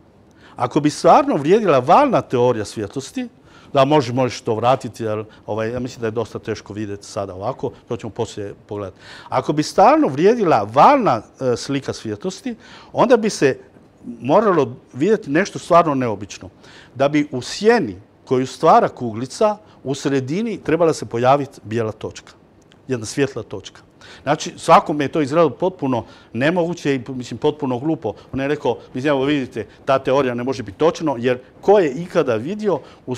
ako bi stvarno vrijedila valna teorija svjetlosti, da možeš to vratiti, jer ja mislim da je dosta teško vidjeti sada ovako, to ćemo poslije pogledati. Ako bi stvarno vrijedila valna slika svjetlosti, onda bi se moralo vidjeti nešto stvarno neobično. Da bi u sjeni koju stvara kuglica, u sredini trebala se pojaviti bijela točka, jedna svjetla točka. Znači, svakome je to izgledalo potpuno nemoguće i potpuno glupo. On je rekao, evo vidite, ta teorija ne može biti točno, jer ko je ikada vidio u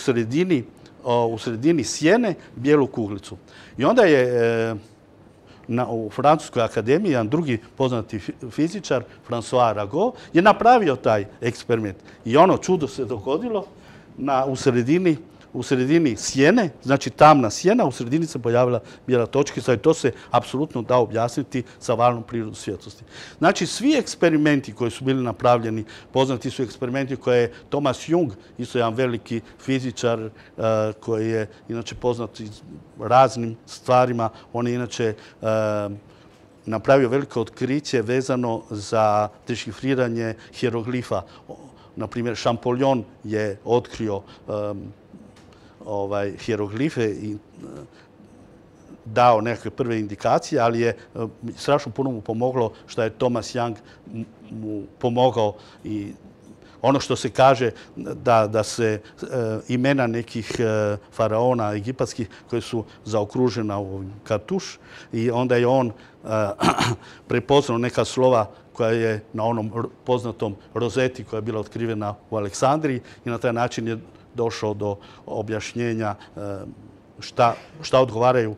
sredini sjene bijelu kuglicu? I onda je u Francuskoj akademiji jedan drugi poznati fizičar, François Arago, je napravio taj eksperiment. I ono čudo se dogodilo u sredini sjene, znači tamna sjena, u sredini se pojavila bijela točkica i to se apsolutno da objasniti sa valnom prirodom svjetlosti. Znači, svi eksperimenti koji su bili napravljeni, poznati su eksperimenti koje je Thomas Young, isto jedan veliki fizičar koji je inače poznat raznim stvarima. On je inače napravio veliko otkriće vezano za dešifriranje hieroglifa. Naprimjer, Champollion je otkrio hieroglife i dao nekakve prve indikacije, ali je strašno puno mu pomoglo što je Thomas Young mu pomogao i ono što se kaže da se imena nekih faraona egipatskih koji su zaokružena u kartuš i onda je on prepoznao neka slova koja je na onom poznatom rozeti koja je bila otkrivena u Aleksandriji i na taj način je došao do objašnjenja šta odgovaraju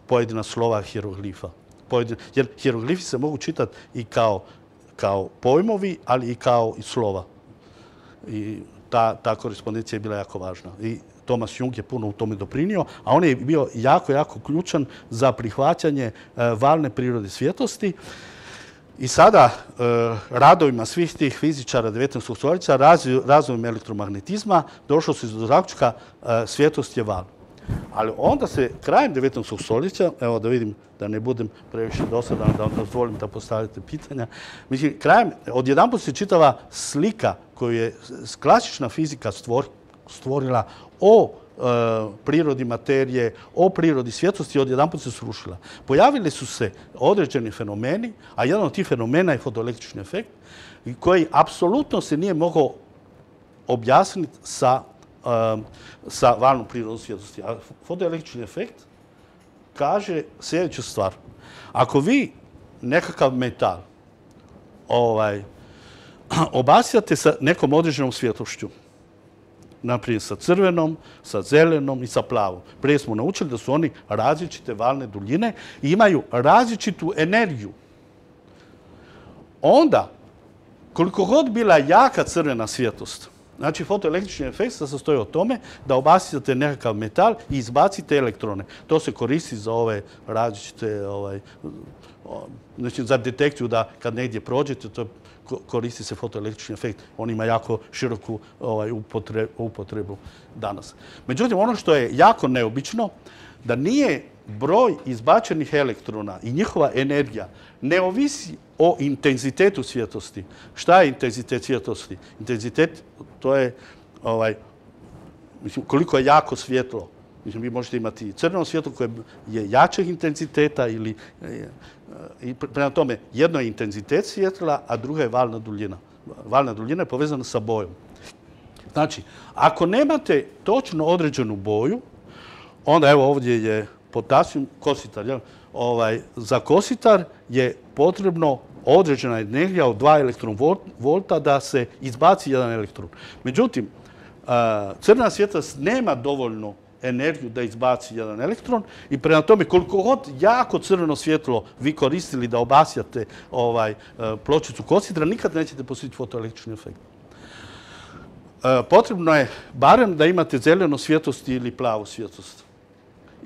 pojedina slova hieroglifa. Jer hieroglifi se mogu čitati i kao pojmovi, ali i kao i slova. I ta korespondencija je bila jako važna. I Thomas Young je puno u tome doprinio, a on je bio jako, jako ključan za prihvaćanje valne prirode svjetlosti. I sada, radovima svih tih fizičara 19. stoljeća, razvojem elektromagnetizma, došlo se do zaključka svjetlost je val. Ali onda se krajem 19. stoljeća, evo da vidim da ne budem previše dosadan, da vam dozvolim da postavite pitanja, mislim, odjedanput se čitava slika koju je klasična fizika stvorila o prirodi materije, o prirodi svjetlosti, odjedanput se srušila. Pojavili su se određeni fenomeni, a jedan od tih fenomena je fotoelektrični efekt, koji apsolutno se nije mogao objasniti sa valnom prirodom svjetlosti. A fotoelektrični efekt kaže sljedeću stvar. Ako vi nekakav metal obasjate sa nekom određenom svjetlošću, naprijed sa crvenom, sa zelenom i sa plavom. Prije smo naučili da su oni različite valne duljine i imaju različitu energiju. Onda, koliko god bila jaka crvena svjetlost, Znači, fotoelektrični efekt se sastoji od tome da obasjate nekakav metal i izbacite elektrone. To se koristi za ove različite, znači za detekciju da kad negdje prođete, to koristi se fotoelektrični efekt. On ima jako široku upotrebu danas. Međutim, ono što je jako neobično, da nije broj izbačenih elektrona i njihova energija ne ovisi o intenzitetu svjetlosti. Šta je intenzitet svjetlosti? Intenzitet, to je koliko je jako svjetlo. Mislim, vi možete imati crveno svjetlo koje je jačeg intenziteta ili prema tome jedno je intenzitet svjetla, a druga je valna duljina. Valna duljina je povezana sa bojom. Znači, ako nemate točno određenu boju, onda evo ovdje je potasijum kositar. Za kositar je potrebno određena energija od 2 elektronvolta da se izbaci jedan elektron. Međutim, crvena svjetlost nema dovoljno energiju da izbaci jedan elektron i prema tome koliko god jako crveno svjetlo vi koristili da obasjate pločicu kositra, nikad nećete postići fotoelektrični efekt. Potrebno je barem da imate zelenu svjetlost ili plavu svjetlost.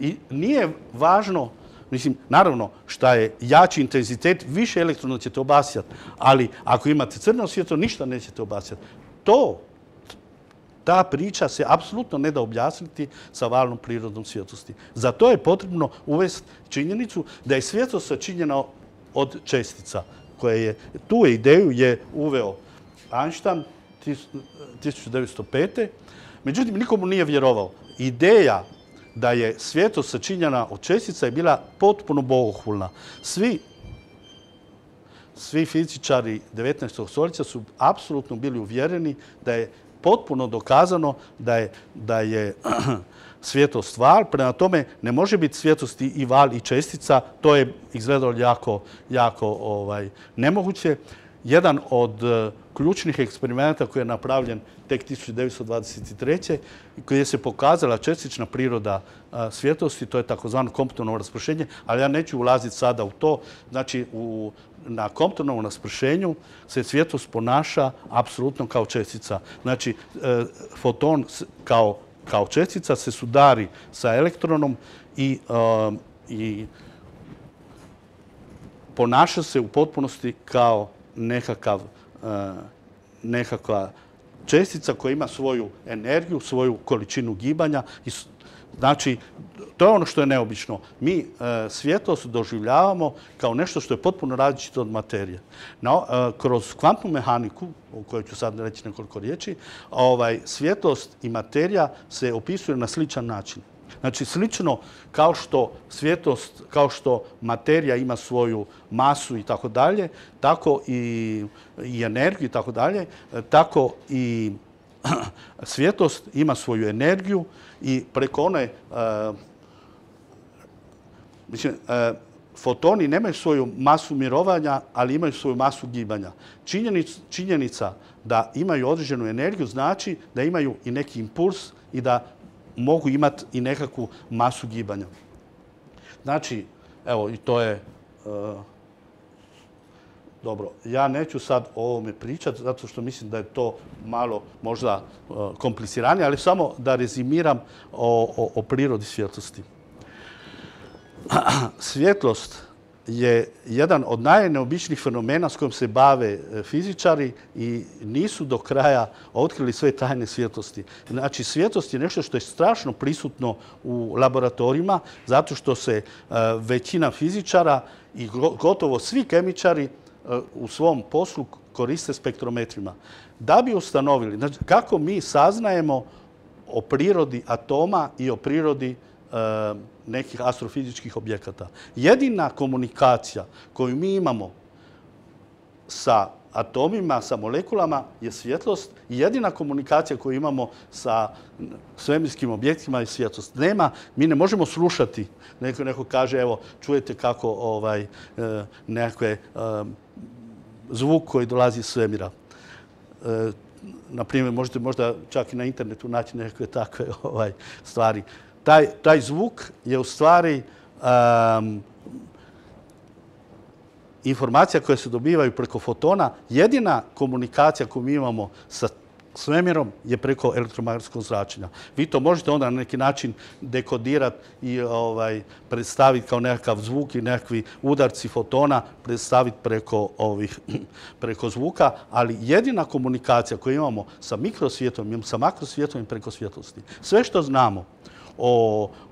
I nije važno, mislim, naravno, šta je jači intenzitet, više elektrona ćete obasjati, ali ako imate crveno svjetlo, ništa nećete obasjati. Ta priča se apsolutno ne da objasniti sa valnom prirodom svjetlosti. Za to je potrebno uvesti činjenicu da je svjetlost sačinjena od čestica. Tu ideju je uveo Einstein 1905. Međutim, nikomu nije vjerovao. Ideja da je svjetlost sačinjena od čestica je bila potpuno bogohulna. Svi fizičari 19. stoljeća su apsolutno bili uvjereni da je potpuno dokazano da je svjetlost val. Prema tome, ne može biti svjetlosti i val i čestica. To je izgledalo jako nemoguće. Jedan od ključnih eksperimenta koji je napravljen tek 1923. gdje se pokazala čestična priroda svjetlosti, to je takozvano Comptonovo raspršenje, ali ja neću ulaziti sada u to. Znači, na Comptonovom raspršenju se svjetlost ponaša apsolutno kao čestica. Znači, foton kao čestica se sudari sa elektronom i ponaša se u potpunosti kao nekakva čestica koja ima svoju energiju, svoju količinu gibanja. Znači, to je ono što je neobično. Mi svjetlost doživljavamo kao nešto što je potpuno različito od materije. Kroz kvantnu mehaniku, o kojoj ću sad reći nekoliko riječi, svjetlost i materija se opisuju na sličan način. Znači, slično kao što materija ima svoju masu i tako dalje, tako i energiju i tako dalje, tako i svjetlost ima svoju energiju i preko one, fotoni nemaju svoju masu mirovanja, ali imaju svoju masu gibanja. Činjenica da imaju određenu energiju znači da imaju i neki impuls i da mogu imati i nekakvu masu gibanja. Znači, evo, i to je dobro. Ja neću sad o ovome pričati, zato što mislim da je to malo možda kompliciranije, ali samo da rezimiram o prirodi svjetlosti. Svjetlost je jedan od najneobičnijih fenomena s kojim se bave fizičari i nisu do kraja otkrili sve tajne svjetlosti. Znači, svjetlost je nešto što je strašno prisutno u laboratorijima, zato što se većina fizičara i gotovo svi kemičari u svom poslu koriste spektrometrima. Da bi ustanovili, znači, kako mi saznajemo o prirodi atoma i o prirodi nekih astrofizičkih objekata. Jedina komunikacija koju mi imamo sa atomima, sa molekulama je svjetlost i jedina komunikacija koju imamo sa svemirskim objektima je svjetlost. Mi ne možemo slušati. Neko kaže, evo, čujete kako nekakve zvuk koji dolazi iz svemira. Naprimjer, možete možda čak i na internetu naći nekakve takve stvari. Taj zvuk je u stvari informacija koja se dobivaju preko fotona. Jedina komunikacija koju mi imamo sa svemirom je preko elektromagnetskog zračenja. Vi to možete onda na neki način dekodirati i predstaviti kao nekakav zvuk i nekakvi udarci fotona predstaviti preko zvuka, ali jedina komunikacija koju imamo sa mikrosvijetom i sa makrosvijetom je preko svjetlosti. Sve što znamo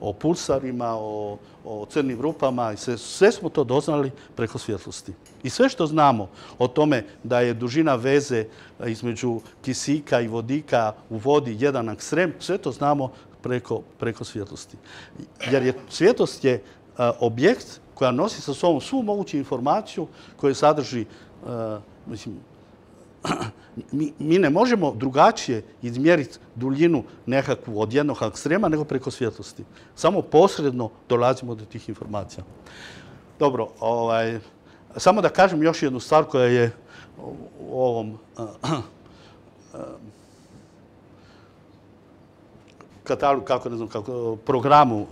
o pulsarima, o crnim rupama, sve smo to doznali preko svjetlosti. I sve što znamo o tome da je dužina veze između kisika i vodika u vodi jedan ekstrem, sve to znamo preko svjetlosti. Jer svjetlost je objekt koja nosi sa sobom svu moguću informaciju koju sadrži, mi ne možemo drugačije izmjeriti duljinu nekakvu od jednog ekstrema nego preko svjetlosti. Samo posredno dolazimo do tih informacija. Dobro, samo da kažem još jednu stvar koja je u ovom katalogu, programu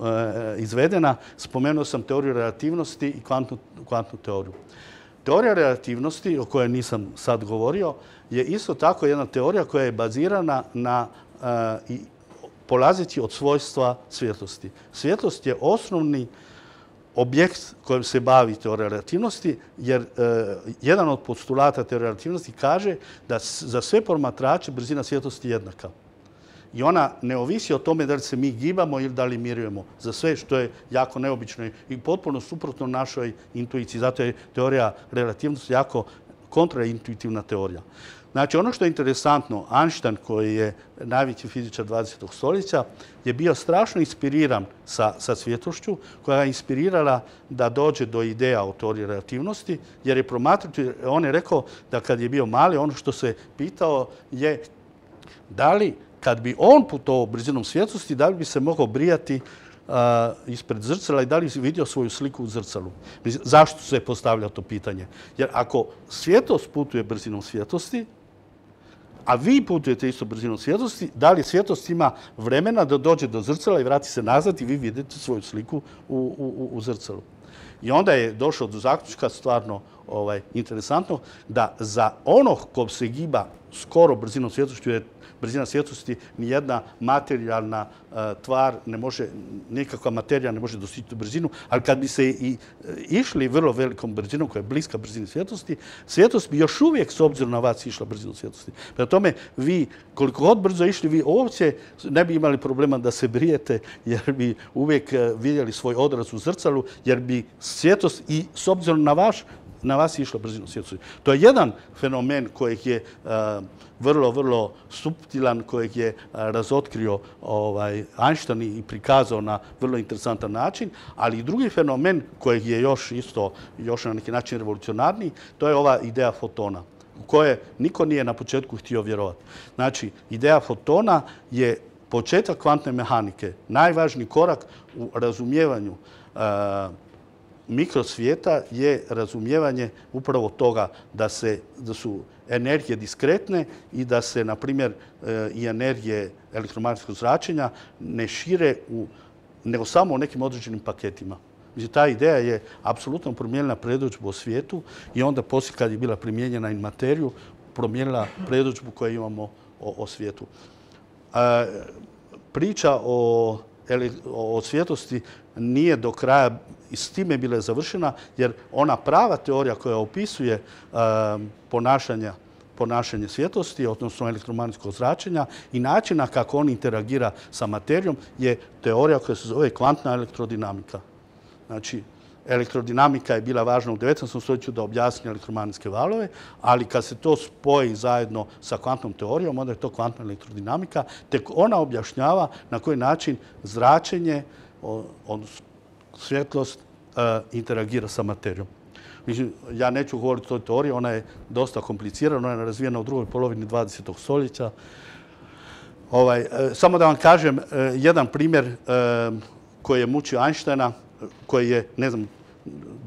izvedena. Spomenuo sam teoriju relativnosti i kvantnu teoriju. Teorija relativnosti, o kojoj nisam sad govorio, je isto tako jedna teorija koja je bazirana polazeći od svojstva svjetlosti. Svjetlost je osnovni objekt kojim se bavi teorija relativnosti, jer jedan od postulata teorije relativnosti kaže da za sve promatrače brzina svjetlosti je jednaka. I ona ne ovisi o tome da li se mi gibamo ili da li mirujemo za sve, što je jako neobično i potpuno suprotno našoj intuiciji. Zato je teorija relativnosti jako kontraintuitivna teorija. Znači, ono što je interesantno, Einstein, koji je najveći fizičar 20. stoljeća, je bio strašno inspiriran sa svjetlošću, koja je inspirirala da dođe do ideja o teoriji relativnosti, jer je promatrač, on je rekao da kad je bio mali, ono što se pitao je da li kad bi on putovao brzinom svjetlosti, da li bi se mogao brijati ispred zrcala i da li bi vidio svoju sliku u zrcalu. Zašto se postavlja to pitanje? Jer ako svjetlost putuje brzinom svjetlosti, a vi putujete isto brzinom svjetlosti, da li svjetlost ima vremena da dođe do zrcala i vrati se nazad i vi vidite svoju sliku u zrcalu. I onda je došao do zaključka, stvarno interesantno, da za onog ko se giba skoro brzinom svjetlosti, jer brzina svjetlosti nijedna materijalna tvar ne može, nikakva materija ne može dostići tu brzinu, ali kad bi se i išli vrlo velikom brzinom koja je bliska brzini svjetlosti, svjetlost bi još uvijek s obzirom na vas išla brzinom svjetlosti. Prema tome, vi koliko god brzo išli, vi uopće ne bi imali problema da se brijete, jer bi uvijek vidjeli svoj odraz u zrcalu, jer bi svjetlost i s obzirom na vas je išla brzinom svjetlosti. To je jedan fenomen kojeg je vrlo, vrlo suptilan, kojeg je razotkrio Einstein i prikazao na vrlo interesantan način, ali i drugi fenomen kojeg je još na neki način revolucionarniji, to je ova ideja fotona, u koje niko nije na početku htio vjerovati. Znači, ideja fotona je početak kvantne mehanike, najvažniji korak u razumijevanju mikrosvijeta je razumijevanje upravo toga da su energije diskretne i da se, na primjer, i energije elektromagnetskog zračenja ne šire nego samo u nekim određenim paketima. Mislim, ta ideja je apsolutno promijenila predodžbu o svijetu i onda poslije kad je bila primijenjena i materiju, promijenila predodžbu koju imamo o svijetu. Priča o svjetlosti nije do kraja i s time bila završena, jer ona prava teorija koja opisuje ponašanje svjetlosti, odnosno elektromagnetskog zračenja i načina kako on interagira sa materijom, je teorija koja se zove kvantna elektrodinamika. Znači, elektrodinamika je bila važna u 19. stoljeću da objasni elektromagnetske valove, ali kad se to spoji zajedno sa kvantnom teorijom, onda je to kvantna elektrodinamika, tek ona objašnjava na koji način zračenje, odnosno svjetlost, interagira sa materijom. Ja neću govoriti o toj teoriji, ona je dosta komplicirana, ona je razvijena u drugoj polovini 20. stoljeća. Samo da vam kažem jedan primjer koji je mučio Einsteina, koji je, ne znam,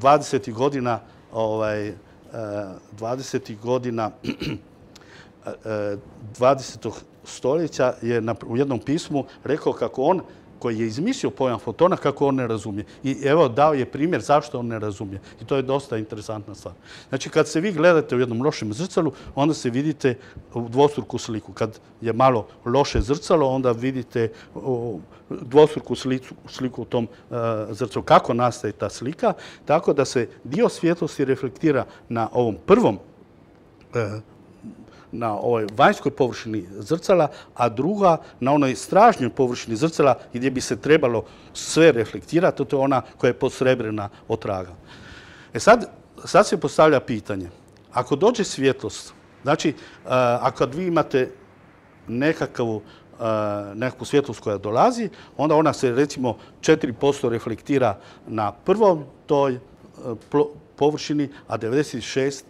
20. godina 20. stoljeća je u jednom pismu rekao kako on koji je izmislio pojam fotona kako on ne razumije. I evo dao je primjer zašto on ne razumije. I to je dosta interesantna stvar. Znači kad se vi gledate u jednom lošem zrcalu, onda se vidite u dvostruku sliku. Kad je malo loše zrcalo, onda vidite dvostruku sliku u tom zrcalu. Kako nastaje ta slika? Tako da se dio svjetlosti reflektira na ovom prvom na ovoj vanjskoj površini zrcala, a druga na onoj stražnjoj površini zrcala gdje bi se trebalo sve reflektirati, to je ona koja je posrebrena od traga. Sad se postavlja pitanje, ako dođe svjetlost, znači ako vi imate nekakvu svjetlost koja dolazi, onda ona se recimo 4% reflektira na prvom toj površini, a 96%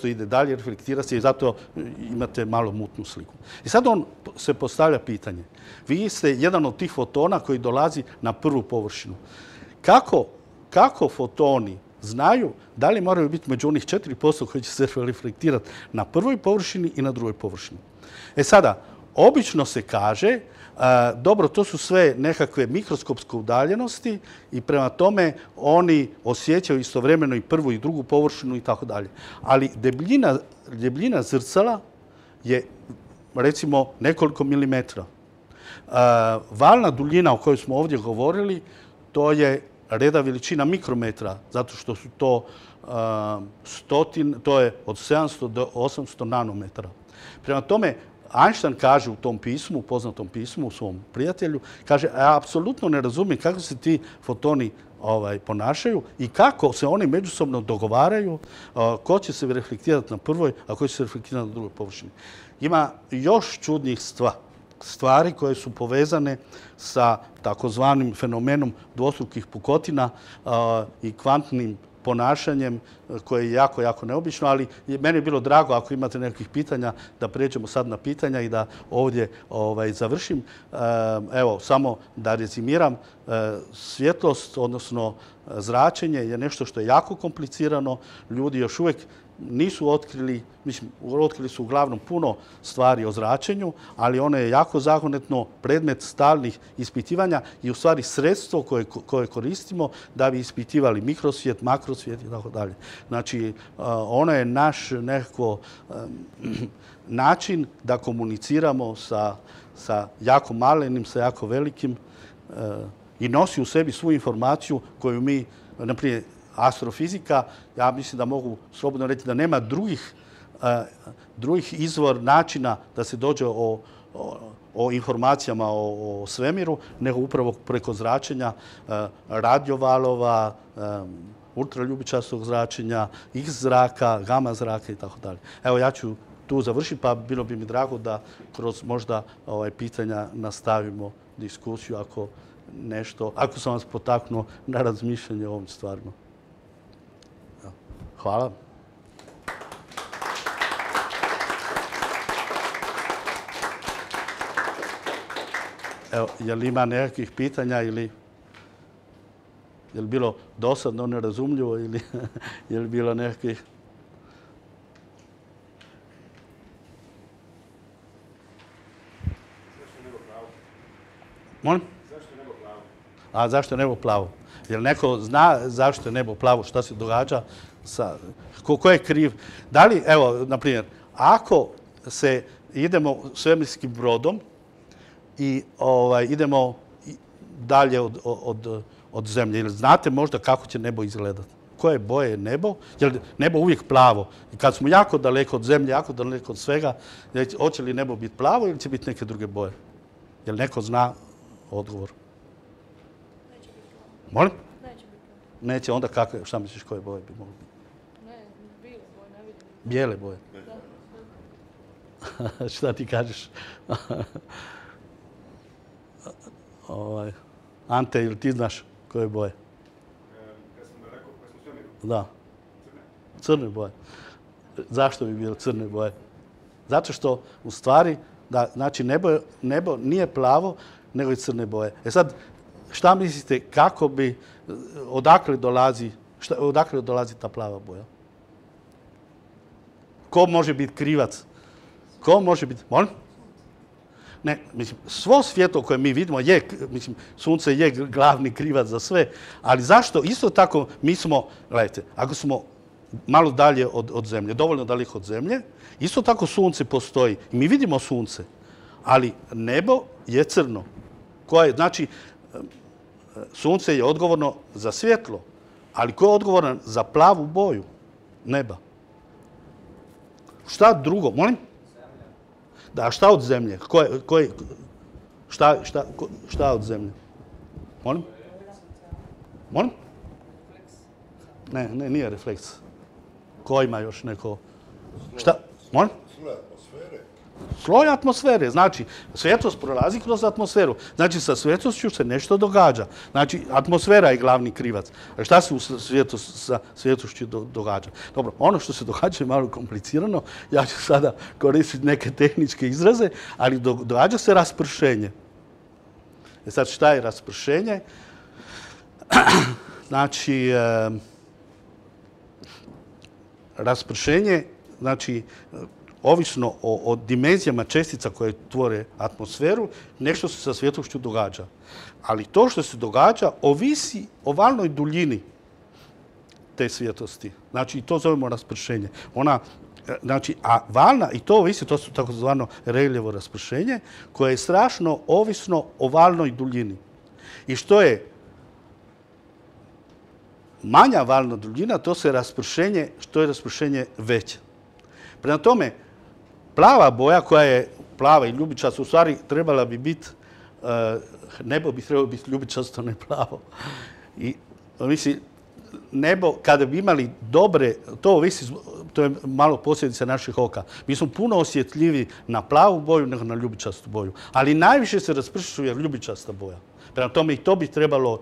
ide dalje, reflektira se i zato imate malo mutnu sliku. I sad on se postavlja pitanje. Vi ste jedan od tih fotona koji dolazi na prvu površinu. Kako fotoni znaju da li moraju biti među onih 4% koji će se reflektirati na prvoj površini i na drugoj površini? Sada, obično se kaže, dobro, to su sve nekakve mikroskopske udaljenosti i prema tome oni osjećaju istovremeno i prvu i drugu površinu i tako dalje. Ali debljina zrcala je recimo nekoliko milimetra. Valna duljina o kojoj smo ovdje govorili, to je reda veličina mikrometra, zato što su to to je od 700 do 800 nanometara. Prema tome, Einstein kaže u tom pismu, poznatom pismu, u svom prijatelju, kaže, ja apsolutno ne razumijem kako se ti fotoni ponašaju i kako se oni međusobno dogovaraju, ko će se reflektirati na prvoj, a ko će se reflektirati na drugoj površini. Ima još čudnih stvari koje su povezane sa takozvanim fenomenom dvostrukih pukotina i kvantnim ponašanjem koje je jako, jako neobično, ali meni je bilo drago ako imate nekakvih pitanja da pređemo sad na pitanja i da ovdje završim. Evo, samo da rezimiram, svjetlost, odnosno zračenje je nešto što je jako komplicirano. Ljudi još uvijek nisu otkrili, mislim, otkrili su uglavnom puno stvari o zračenju, ali ono je jako zagonetno predmet stalnih ispitivanja i u stvari sredstvo koje koristimo da bi ispitivali mikrosvijet, makrosvijet i tako dalje. Znači, ono je naš nekako način da komuniciramo sa jako malenim, sa jako velikim i nosi u sebi svu informaciju koju mi, naprimjer, astrofizika, ja mislim da mogu slobodno reći da nema drugih izvor načina da se dođe o informacijama o svemiru, nego upravo preko zračenja, radiovalova, ultraljubičastog zračenja, X zraka, gama zraka i tako dalje. Evo, ja ću tu završiti, pa bilo bi mi drago da kroz možda pitanja nastavimo diskusiju ako sam vas potaknuo na razmišljanje o ovim stvarima. Hvala. Evo, je li ima nekakvih pitanja ili je li bilo dosadno, nerazumljivo ili je li bilo nekakvih... Zašto nebo plavo? Molim? Zašto nebo plavo? A zašto je nebo plavo? Jel neko zna zašto je nebo plavo, šta se događa? Ko je kriv? Da li, evo, na primjer, ako idemo svemirskim brodom i idemo dalje od zemlje, ili znate možda kako će nebo izgledati? Koje boje je nebo? Je li nebo uvijek plavo? I kad smo jako daleko od zemlje, jako daleko od svega, hoće li nebo biti plavo ili će biti neke druge boje? Jel neko zna odgovor? Neće biti plavo. Molim? Neće biti plavo. Neće, onda kakve, šta misliš koje boje bi mogli biti? Ne, bijele boje, ne vidim. Bijele boje. Da. Šta ti kažeš? Ante, ili ti znaš koje boje? Kad sam rekao, kad smo svemiru. Da. Crne. Crne boje. Zašto bi bile crne boje? Zato što, u stvari, znači nebo nije plavo, nego je crne boje. Sad, šta mislite, odakle dolazi ta plava boja? Ko može biti krivac? Ko može biti... Molim? Ne, mislim, svo svjetlo koje mi vidimo je, mislim, sunce je glavni krivac za sve, ali zašto isto tako mi smo, gledajte, ako smo malo dalje od zemlje, dovoljno daleko od zemlje, isto tako sunce postoji i mi vidimo sunce, ali nebo je crno. Znači, sunce je odgovorno za svjetlo, ali ko je odgovoran za plavu boju neba? Šta drugo? Molim? Da, šta od zemlje? Šta od zemlje? Molim? Molim? Ne, nije refleks. Ko ima još neko? Šta? Molim? Sloj atmosfere. Sloj atmosfere. Znači, svjetlost prolazi kroz atmosferu. Znači, sa svjetlošću se nešto događa. Znači, atmosfera je glavni krivac. A šta se sa svjetlošću događa? Dobro, ono što se događa je malo komplicirano. Ja ću sada koristiti neke tehničke izraze, ali događa se raspršenje. Sad, šta je raspršenje? Znači, raspršenje, znači, ovisno o dimenzijama čestica koje tvore atmosferu, nešto se sa svjetlošću događa. Ali to što se događa ovisi o valnoj duljini te svjetlosti. Znači, to zovemo raspršenje. Znači, a valna, i to ovisi, to su takozvano Rayleighovo raspršenje, koje je strašno ovisno o valnoj duljini. I što je manja valna duljina, to je raspršenje veće. Prema tome, plava boja koja je plava i ljubičasta, u stvari trebala bi biti, nebo bi trebalo biti ljubičasto, ne plavo. I mislim, nebo, kada bi imali dobre, to je malo posljedica naših oka. Mi smo puno osjetljiviji na plavu boju nego na ljubičastu boju. Ali najviše se raspršuje ljubičasta boja. Prema tome i to bi trebalo,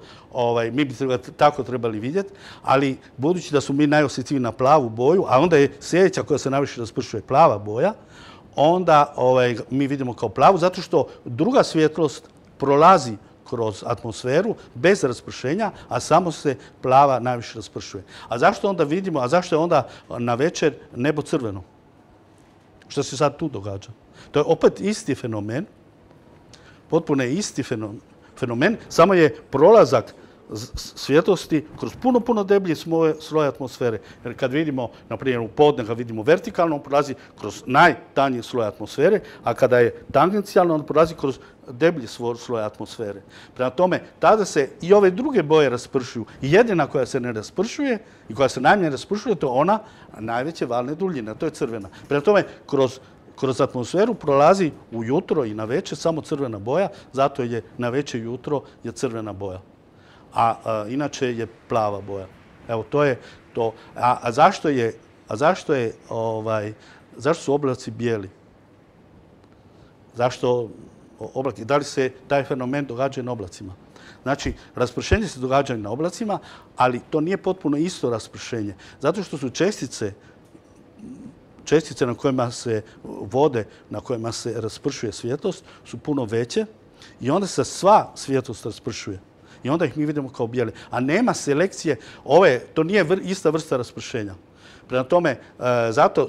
mi bi tako trebali vidjeti, ali budući da su mi najosjetljiviji na plavu boju, a onda je sljedeća koja se najviše raspršuje plava boja, onda mi vidimo kao plavu, zato što druga svjetlost prolazi kroz atmosferu bez raspršenja, a samo se plava najviše raspršuje. A zašto onda vidimo, a zašto je onda na večer nebo crveno? Što se sad tu događa? To je opet isti fenomen, potpuno je isti fenomen, samo je prolazak svjetlosti kroz puno deblji sloj atmosfere. Jer kad vidimo, na primjer u podne, kad vidimo vertikalno, on prolazi kroz najtanji sloj atmosfere, a kada je tangencijalno, on prolazi kroz deblji sloj atmosfere. Prema tome, tada se i ove druge boje raspršuju. I jedina koja se ne raspršuje i koja se najmanje raspršuje, to je ona najveće valne duljine, a to je crvena. Prema tome, kroz atmosferu prolazi ujutro i na večer samo crvena boja, zato je na večer jutro je crvena boja. A inače je plava boja. Evo, to je to. Zašto su oblaci bijeli? Zašto oblaki? Da li se taj fenomen događa na oblacima? Znači, raspršenje se događa na oblacima, ali to nije potpuno isto raspršenje. Zato što su čestice na kojima se vode, na kojima se raspršuje svjetlost, su puno veće i onda se sva svjetlost raspršuje. I onda ih mi vidimo kao bijele. A nema selekcije, to nije ista vrsta raspršenja. Prema tome, zato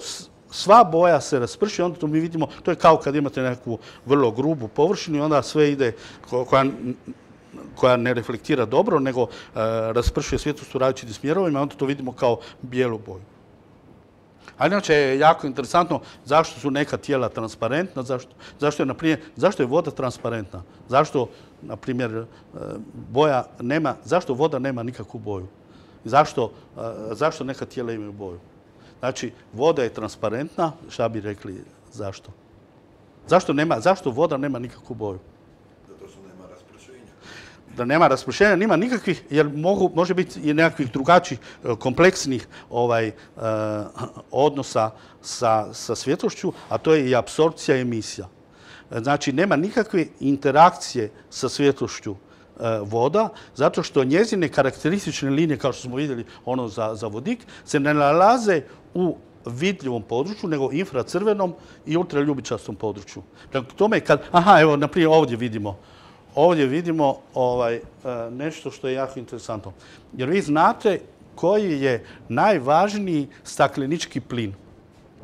sva boja se rasprši, onda to mi vidimo, to je kao kad imate neku vrlo grubu površinu i onda sve ide, koja ne reflektira dobro, nego raspršuje svjetlost u različitim smjerovima, onda to vidimo kao bijelu boju. A inače je jako interesantno zašto su neka tijela transparentna, zašto je voda transparentna, zašto, na primjer, zašto voda nema nikakvu boju, zašto neka tijela imaju boju. Znači, voda je transparentna, šta bi rekli zašto? Zašto voda nema nikakvu boju? Zato što nema raspršenja. Da nema raspršenja, nema nikakvih, jer može biti i nekakvih drugačijih kompleksnih odnosa sa svjetlošću, a to je i apsorpcija i emisija. Znači, nema nikakve interakcije sa svjetlošću voda, zato što njezine karakteristične linije, kao što smo vidjeli ono za vodik, se ne nalaze u vidljivom području, nego infracrvenom i ultraljubičastom području. Prema tome, evo, na primjer, ovdje vidimo nešto što je jako interesantno. Jer vi znate koji je najvažniji staklenički plin.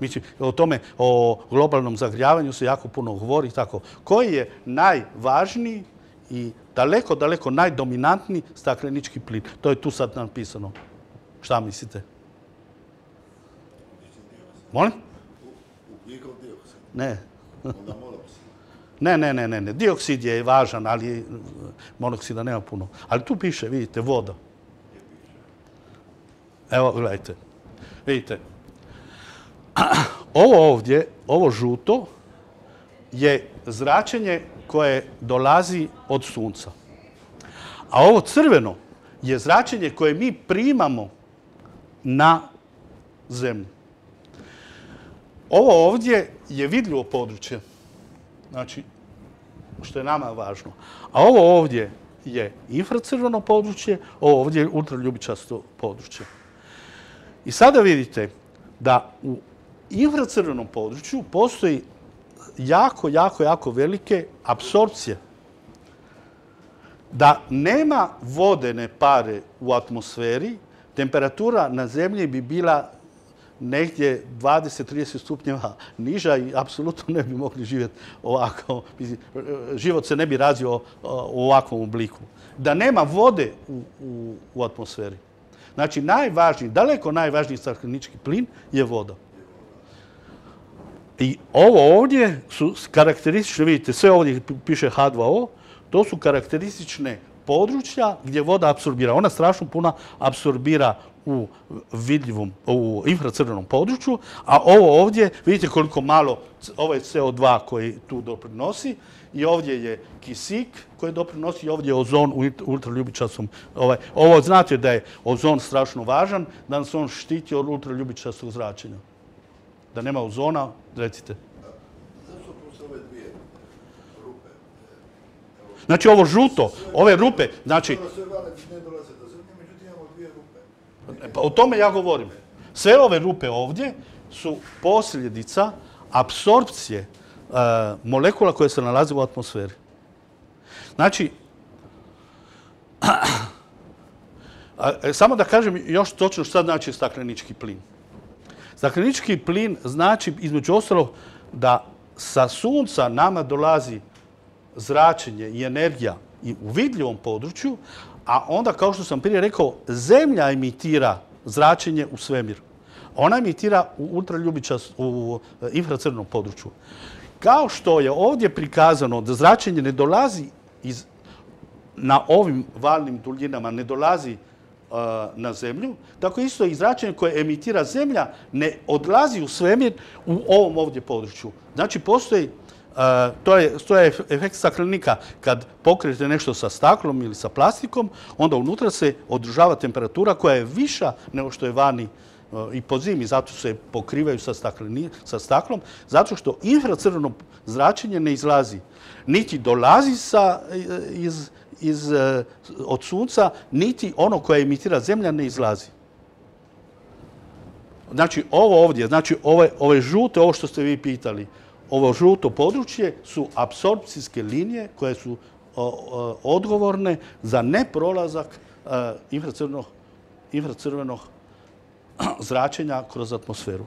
Mislim, o tome, o globalnom zagrijavanju se jako puno govori. Tako. Koji je najvažniji i daleko, daleko najdominantniji staklenički plin? To je tu sad napisano. Šta mislite? Molim? Ugljikov dioksid. Ne. Onda monoksid. Ne. Dioksid je važan, ali monoksida nema puno. Ali tu piše, vidite, voda. Evo, gledajte. Vidite. Ovo ovdje, ovo žuto, je zračenje koje dolazi od sunca. A ovo crveno je zračenje koje mi primamo na zemlju. Ovo ovdje je vidljivo područje, znači, što je nama važno. A ovo ovdje je infracrveno područje, ovo ovdje je ultraljubičasto područje. I sada vidite da u infracrvenom području postoji jako velike apsorpcije. Da nema vodene pare u atmosferi, temperatura na zemlji bi bila negdje 20-30 stupnjeva niža i apsolutno ne bi mogli živjeti ovako. Život se ne bi razvio u ovakvom obliku. Da nema vode u atmosferi. Znači, daleko najvažniji staklenički plin je voda. I ovo ovdje su karakteristične, vidite, sve ovdje piše H2O, to su karakteristične područja gdje voda apsorbira. Ona strašno puno apsorbira u infracrvenom području, a ovo ovdje, vidite koliko malo, ovo je CO2 koji tu doprinosi, i ovdje je kisik koji doprinosi, i ovdje je ozon u ultraljubičastom. Ovo znate da je ozon strašno važan, da nas on štiti od ultraljubičastog zračenja. Da nema ozona, recite. Zašto postoje ove dvije rupe? Znači ovo žuto, ove rupe, znači... Sve vale ne dolaze do zemlje, međutim imamo dvije rupe. Pa o tome ja govorim. Sve ove rupe ovdje su posljedica apsorpcije molekula koje se nalaze u atmosferi. Znači, samo da kažem još točno šta znači staklenički plin. Staklenički plin znači, između ostalog, da sa sunca nama dolazi zračenje i energija i u vidljivom području, a onda, kao što sam prije rekao, Zemlja emitira zračenje u svemir. Ona emitira u infracrvenom području. Kao što je ovdje prikazano da zračenje ne dolazi na ovim valnim duljinama, ne dolazi na Zemlju, tako isto i zračenje koje emitira Zemlja ne odlazi u svemir u ovom ovdje području. Znači, postoji, to je efekt staklenika. Kad pokrijete nešto sa staklom ili sa plastikom, onda unutra se održava temperatura koja je viša nego što je vani i po zimi. Zato se pokrivaju sa staklom, zato što infracrveno zračenje ne izlazi. Niti dolazi od sunca, niti ono koje emitira Zemlja ne izlazi. Znači, ovo ovdje, znači ove žute, ovo što ste vi pitali, ovo žuto područje su apsorpcijske linije koje su odgovorne za neprolazak infracrvenog zračenja kroz atmosferu.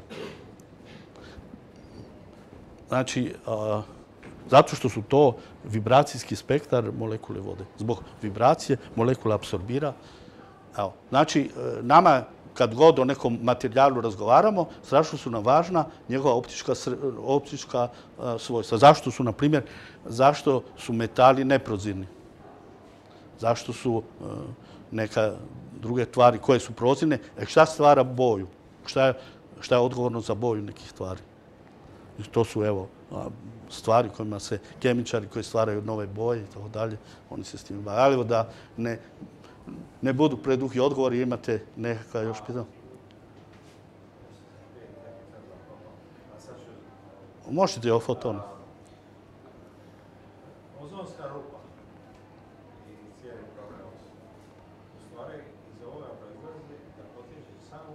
Znači, zato što su to vibracijski spektar molekule vode. Zbog vibracije molekula apsorbira. Znači, nama kad god o nekom materijalu razgovaramo, strašno su nam važna njegova optička svojstva. Zašto su, na primjer, zašto su metali neprozirni? Zašto su neka druge tvari koje su prozirne? Šta stvara boju? Šta je odgovorno za boju nekih tvari? To su, evo, stvari kojima se kemičari koji stvaraju nove boje i tako dalje, oni se s tim bave. Ali da ne budu preduhi odgovori, imate nekakav još pitanje? Možete o fotonu. Ozonska rupa i cijeli problem. U stvari, iz ovoga proizlazi da potječe samo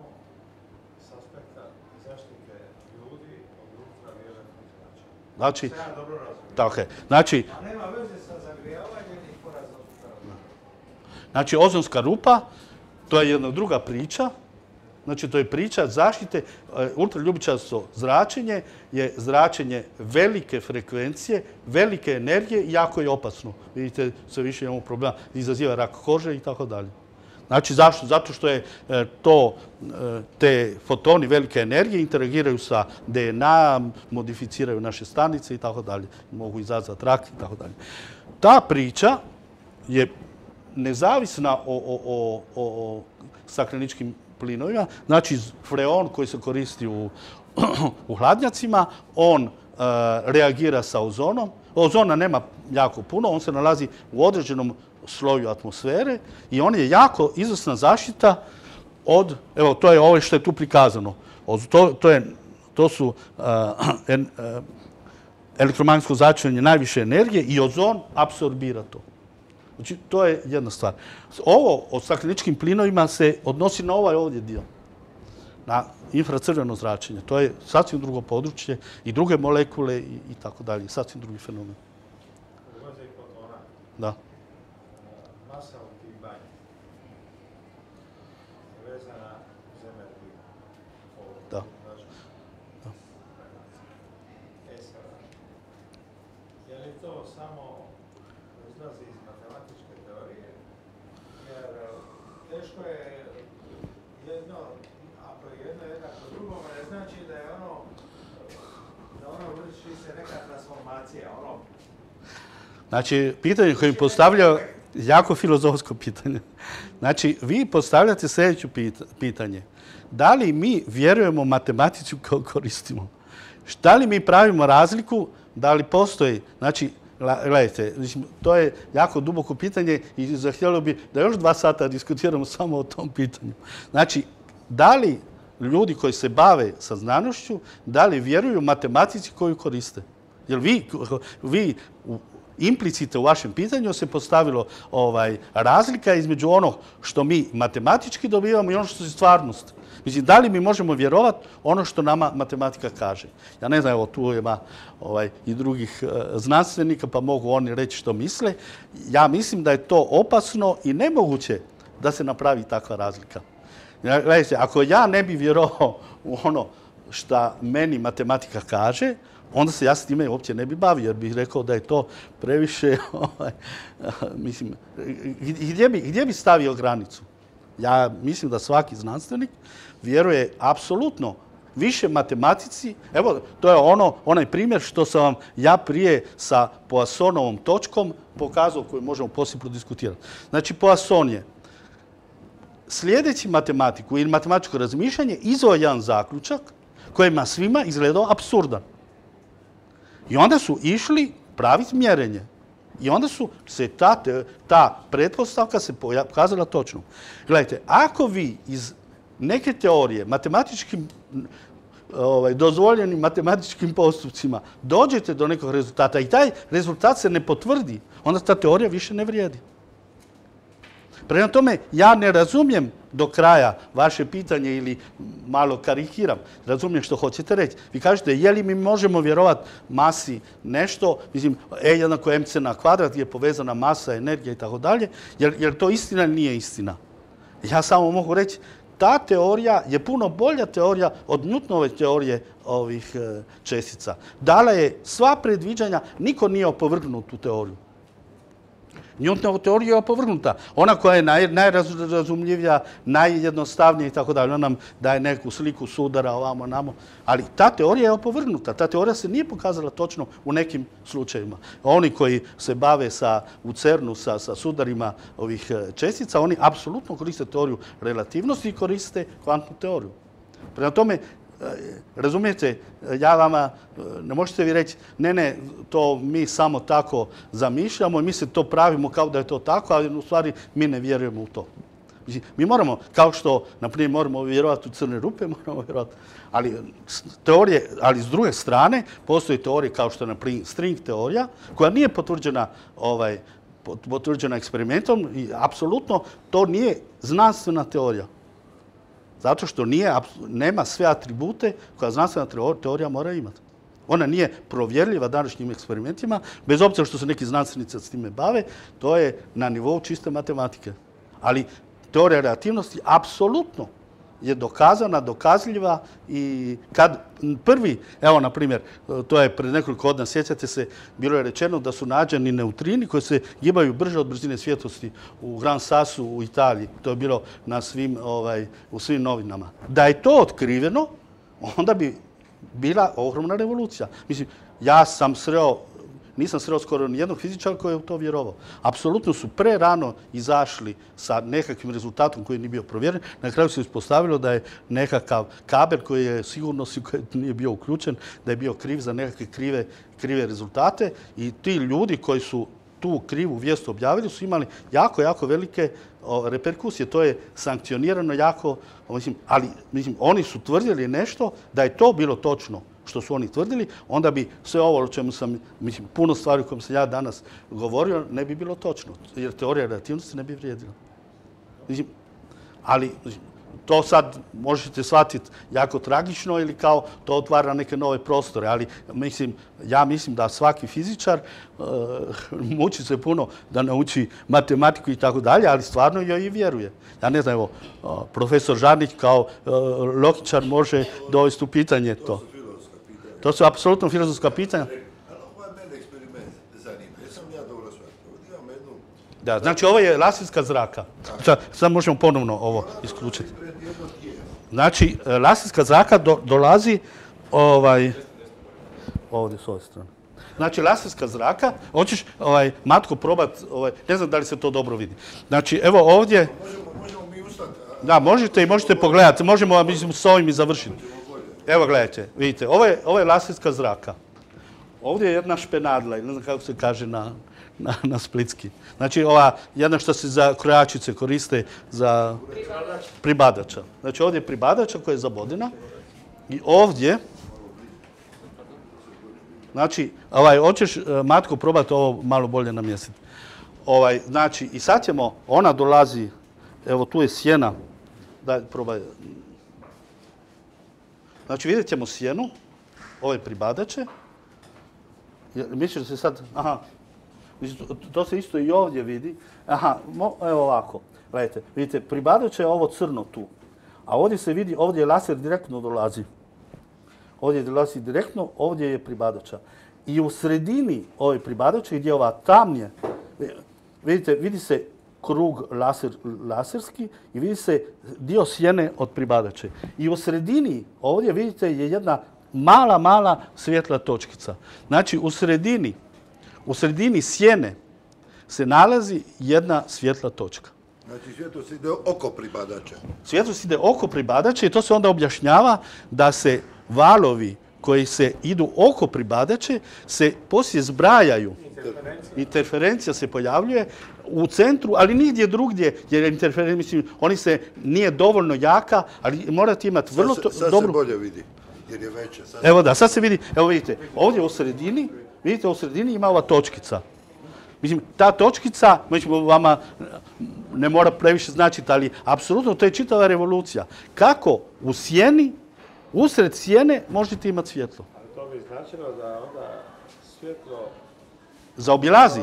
s aspekta zaštite ljudi od ultravioletnog zračenja. Znači, Sve ja dobro razumijem. tako je. Znači, A nema veze sa zagrijavanjem i porazom. Znači, ozonska rupa, to je jedna druga priča. Znači, to je priča zaštite. Ultraljubičasto zračenje je zračenje velike frekvencije, velike energije i jako je opasno. Vidite, sve više imamo problema, izaziva rak kože i tako dalje. Znači, zašto? Zato što je te fotoni velike energije interagiraju sa DNA, modificiraju naše stanice i tako dalje. Mogu izazvati rak i tako dalje. Ta priča je nezavisna o stakleničkim plinovima. Znači, freon koji se koristi u hladnjacima, on reagira sa ozonom. Ozona nema jako puno, on se nalazi u određenom sloju atmosfere i on je jako izvrsna zaštita od, evo, to je ovo što je tu prikazano. To su elektromagnetsko zračenje najviše energije i ozon apsorbira to. Znači, to je jedna stvar. Ovo o stakleničkim plinovima se odnosi na ovaj ovdje dio, na infracrveno zračenje. To je sasvim drugo područje i druge molekule i tako dalje. Sasvim drugi fenomen. Ulaze i fotona. Da. Masa u tih banja je vezana uz energiju. Da. Sada, je li to samo izlazi iz matematičke teorije? Jer teško je jedno, ako je jedno jednako drugome, ne znači da je vrši se neka transformacija, Znači, pitanje koje mi postavljaju jako filozofsko pitanje. Znači, vi postavljate sljedeće pitanje. Da li mi vjerujemo matematici koju koristimo? Da li mi pravimo razliku? Da li postoji? Znači, gledajte, to je jako duboko pitanje i zahtjelo bi da još 2 sata diskutiramo samo o tom pitanju. Znači, da li ljudi koji se bave sa znanošću, da li vjeruju matematici koju koriste? Jer vi implicite u vašem pitanju se postavilo razlika između onog što mi matematički dobivamo i ono što je stvarnost. Mislim, da li mi možemo vjerovati ono što nama matematika kaže? Ja ne znam, evo tu ima i drugih znanstvenika, pa mogu oni reći što misle. Ja mislim da je to opasno i nemoguće da se napravi takva razlika. Gledajte, ako ja ne bi vjerovao u ono što meni matematika kaže, onda se ja s time uopće ne bi bavio, jer bih rekao da je to previše, mislim, gdje bi stavio granicu? Ja mislim da svaki znanstvenik vjeruje apsolutno više matematici. Evo, to je onaj primjer što sam vam ja prije sa Poissonovom točkom pokazao, koju možemo poslije prodiskutirati. Znači, Poisson je slijedeći matematiku ili matematičko razmišljanje izveo jedan zaključak kojima svima izgledao apsurdan. I onda su išli praviti mjerenje. I onda su se ta pretpostavka se pokazala točno. Gledajte, ako vi iz neke teorije matematičkim, dozvoljenim matematičkim postupcima dođete do nekog rezultata i taj rezultat se ne potvrdi, onda ta teorija više ne vrijedi. Prema tome, ja ne razumijem do kraja vaše pitanje ili malo karikiram. Razumijem što hoćete reći. Vi kažete, je li mi možemo vjerovati masi nešto, mislim, E jednako mc na kvadrat je povezana masa, energija i tako dalje, jer to istina ili nije istina. Ja samo mogu reći, ta teorija je puno bolja teorija od Newtonove teorije ovih čestica. Dala je sva predviđanja, niko nije opovrgnuo tu teoriju. Newtonova teorija je opovrgnuta. Ona koja je najrazumljivija, najjednostavnija i tako dalje. Ona nam daje neku sliku sudara ovamo, namo. Ali ta teorija je opovrgnuta. Ta teorija se nije pokazala točno u nekim slučajevima. Oni koji se bave u CERN-u sa sudarima ovih čestica, oni apsolutno koriste teoriju relativnosti i koriste kvantnu teoriju. Prema tome, razumijete, ja vama, ne možete vi reći, ne, to mi samo tako zamišljamo i mi se to pravimo kao da je to tako, ali u stvari mi ne vjerujemo u to. Mi moramo, kao što, na primjer, moramo vjerovati u crne rupe, moramo vjerovati, ali s druge strane, postoji teorije kao što je, na primjer, string teorija, koja nije potvrđena eksperimentom i apsolutno to nije znanstvena teorija. Zato što nema sve atribute koja znanstvena teorija mora imati. Ona nije provjerljiva današnjim eksperimentima, bez obzira što se neki znanstvenici s time bave, to je na nivou čiste matematike. Ali teorija relativnosti apsolutno je dokazana, dokazljiva i kad prvi, evo na primjer, to je pred nekoliko godina, sjećate se, bilo je rečeno da su nađeni neutrini koji se gibaju brže od brzine svjetlosti u Gran Sassu u Italiji. To je bilo na u svim novinama. Da je to otkriveno, onda bi bila ogromna revolucija. Mislim, ja sam nisam sreo skoro nijednog fizičara koji je u to vjerovao. Apsolutno su prerano izašli sa nekakvim rezultatom koji nije bio provjeren. Na kraju se ispostavilo da je nekakav kabel koji je sigurno nije bio uključen, da je bio kriv za nekakve krive rezultate i ti ljudi koji su tu krivu vijest objavili su imali jako, jako velike reperkusije. To je sankcionirano jako, ali oni su tvrdili nešto da je to bilo točno što su oni tvrdili, onda bi sve ovo o čemu sam, puno stvari o kojom sam ja danas govorio, ne bi bilo točno, jer teorija relativnosti ne bi vrijedila. Ali to sad možete shvatiti jako tragično ili kao to otvara neke nove prostore, ali ja mislim da svaki fizičar muči se puno da nauči matematiku i tako dalje, ali stvarno joj i vjeruje. Ja ne znam, evo, profesor Žarnić kao logičar može dovesti u pitanje to. To su apsolutno filozofska pitanja. Ali ovo je mene eksperiment zanima. Jesam ja dobro shvatio. Imam jednu... Da, znači ovo je laserska zraka. Sad možemo ponovno ovo isključiti. Znači, laserska zraka dolazi ovdje s ove strane. Znači, laserska zraka, hoćeš, Matko, probat, ne znam da li se to dobro vidi. Znači, evo ovdje... Možemo mi ustati. Da, možete i možete pogledati. Možemo, mislim, s ovim i završiti. Evo, gledajte, vidite, ovo je laserska zraka. Ovdje je jedna špenadla, ne znam kako se kaže na splitski. Znači, ova jedna što se za krojačice koriste za pribadača. Znači, ovdje je pribadača koja je zabodena i ovdje, znači, hoćeš, Matko, probati ovo malo bolje namjestiti. Znači, i sad ćemo, ona dolazi, evo tu je sjena, daj, probaj. Znači, vidjet ćemo sjenu, ove pribadače. Misliš da se sad... Aha, to se isto i ovdje vidi. Aha, evo ovako. Gledajte, vidite, pribadače je ovo crno tu. A ovdje se vidi, ovdje je laser direktno dolazi. Ovdje dolazi direktno, ovdje je pribadača. I u sredini ove pribadače, gdje je ova tamnije, vidite, vidi se krug laserski i vidi se dio sjene od pribadače. I u sredini ovdje vidite je jedna mala svjetla točkica. Znači u sredini sjene se nalazi jedna svjetla točka. Znači svjetlost ide oko pribadača. Svjetlost ide oko pribadača i to se onda objašnjava da se valovi koji se idu oko pribadače se poslije zbrajaju. Interferencija se pojavljuje u centru, ali nigdje drugdje, jer interferencija, oni se nije dovoljno jaka, ali morate imati vrlo dobru... Sad se bolje vidi, jer je veća. Evo da, sad se vidi, evo vidite, ovdje u sredini, vidite u sredini ima ova točkica. Mislim, ta točkica, vama ne mora previše značiti, ali apsolutno to je čitava revolucija. Kako u sjeni, usred sjene možete imati svjetlo? Ali to bi značilo da onda svjetlo zaobilazi,